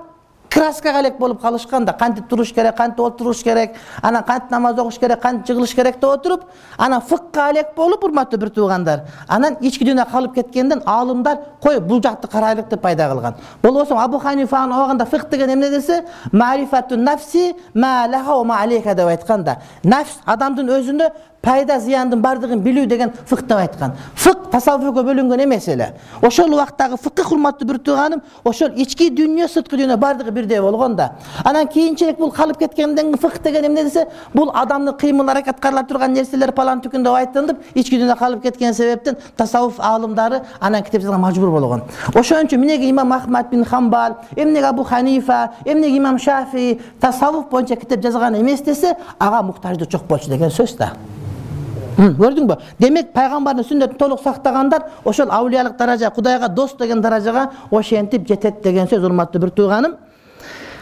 краскага элек болуп калышканда, кантип туруш керек, кантип отуруш керек, анан кантип намаз окуш керек, кантип жыгылыш керек деп отуруп, анан фыкка элек болуп, урматтуу бир туугандар, анан ички дүйнөгө калып кеткенден аалымдар кой бул жакты карайлык деп пайда кылган. Болбосо Абу Ханифанын убагында фык деген эмне десе, ма'рифатун нафси ма лаха ва ма алейка деп айтканда, нафс адамдын өзүнө пайда зыяндын бардыгын билүү деген фык деп айткан. Фык тасаввуфка бөлүнгөн эмес эле. Ошол убактагы фыкы, урматтуу бир тууганым, ошол ички дүйнө, сырткы дүйнө бардыгы бирдей болгон да. Анан кийинчерээк бул калып кеткенден фык деген эмне десе, бул адамдын кыймыл аракет кыла турган нерселер палан түкүн деп айтылып, ички дүйнө калып кеткен себептен тасаввуф аалымдары анан китеп жазганга мажбур болгон. Ошон үчүн эмнеге имам Ахмад бин Хамбал, эмнеге Абу Ханифа, эмнеге имам Шафии тасаввуф боюнча китеп жазган эмес десе, ага муктаждык жок болчу деген сөз да. Көрдүңбү? Демек пайгамбардын сүннөтүн толук сактагандар ошол аулиялык даража, Кудайга дос деген даражага ошентип жетет деген сөз, урматтуу бир тууганым.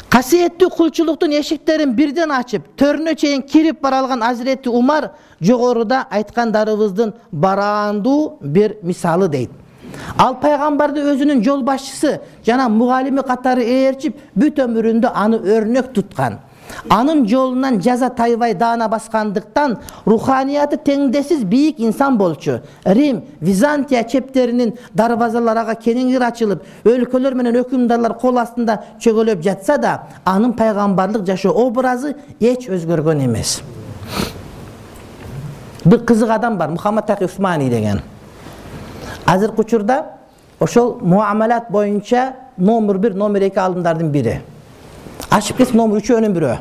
Касиеттүү кулчулуктун эшиктерин бирден ачып, төрүнө чейин кирип бара алган Азирети Умар жогоруда айткандарыбыздын бараандуу бир мисалы дейт. Ал пайгамбарды өзүнүн жол башчысы жана мугалими катары ээрчип, бүт өмүрүндө аны өрнөк туткан. Анын жолунан жаза тайбай даана баскандыктан руханияты теңдесиз бийик инсан болчу. Рим, Византия чептеринин дарбазалары ага кеңингир ачылып, өлкөлөр менен өкүмдарлар кол астында чөгөлөп жатса да, анын пайгамбарлык жашоо образы эч өзгөргөн эмес. Бир кызык адам бар, Мухаммад Таки Усмани деген. Азыркы учурда ошол муамалат боюнча номер бир, номер эки алдымдардын бири. Ашып кетип номер үчөөнүн бирөө.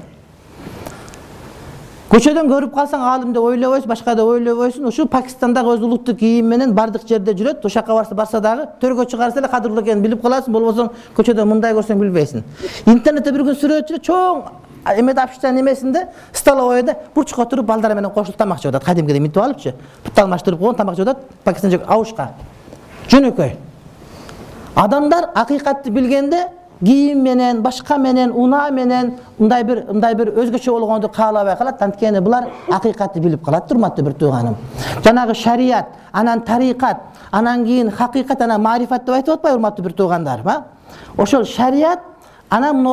Көчөдөн көрүп калсаң аалым деп ойлобойсуң, башка деп ойлобойсуң. Ушул Пакистандагы өз улуттук кийим менен бардык жерде жүрөт. Ошакка барса барса дагы төргө чыгарса эле кадырлуу экенин билип каласың, болбосо көчөдө мындай көрсөң билбейсиң. Интернетте бир күн сүрөт чоң эмеде общежитиянын эмесинде столовойдо бурчукка отуруп балдар менен кошулуп тамак жеп атат. Кадимкидей мынтип алыпчы. Бут алмаштырып койгон тамак жеп атат. Пакистан жок абушка. Жөнөкөй. Адамдар акыйкатты билгенде кийим менен, башка менен, унаа менен мындай бир мындай бир өзгөчө болгонду каалабай калат. Анткени булар акыйкатты билип калат, урматтуу бир тууганым. Жанагы шарият, анан тарикат, анан кийин хакыйкат, анан марифат деп айтып атпайбы, урматтуу бир туугандар, ба? Ошол шарият, анан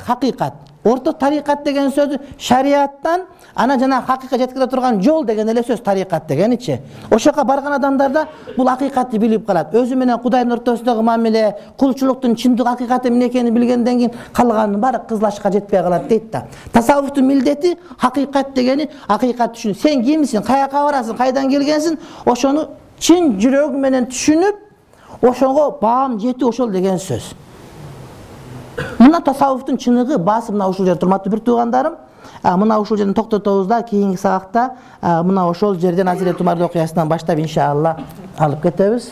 хакыйкат. Орто тарикат деген сөзү шариаттан, анан жана хакыйкатка жеткире турган жол деген эле сөз тарикат дегеничи. Ошока барган адамдарда бул акыйкатты билип калат. Өзү менен Кудайдын ортосундагы мамиле, кулчулуктун чындык акыйкаты эмне экенин билгенден кийин калганын баары кызлашка жетпей калат дейт да. Тасаввуфтун милдети хакыйкат дегени, акыйкат түшүн. Сен кимсиң, каяка барасың, кайдан келгенсиң, ошону чын жүрөгүң менен түшүнүп, ошого баам жетүү ошол деген сөз. Мына тасаввуфтун чыныгы баасы мына ушул жерде, урматтуу бир туугандарым. Мына ушул жерден токтотобуз да, кийинки сабакта мына ошол жерден Азирет Умардын окуясынан баштап иншалла алып кетебиз.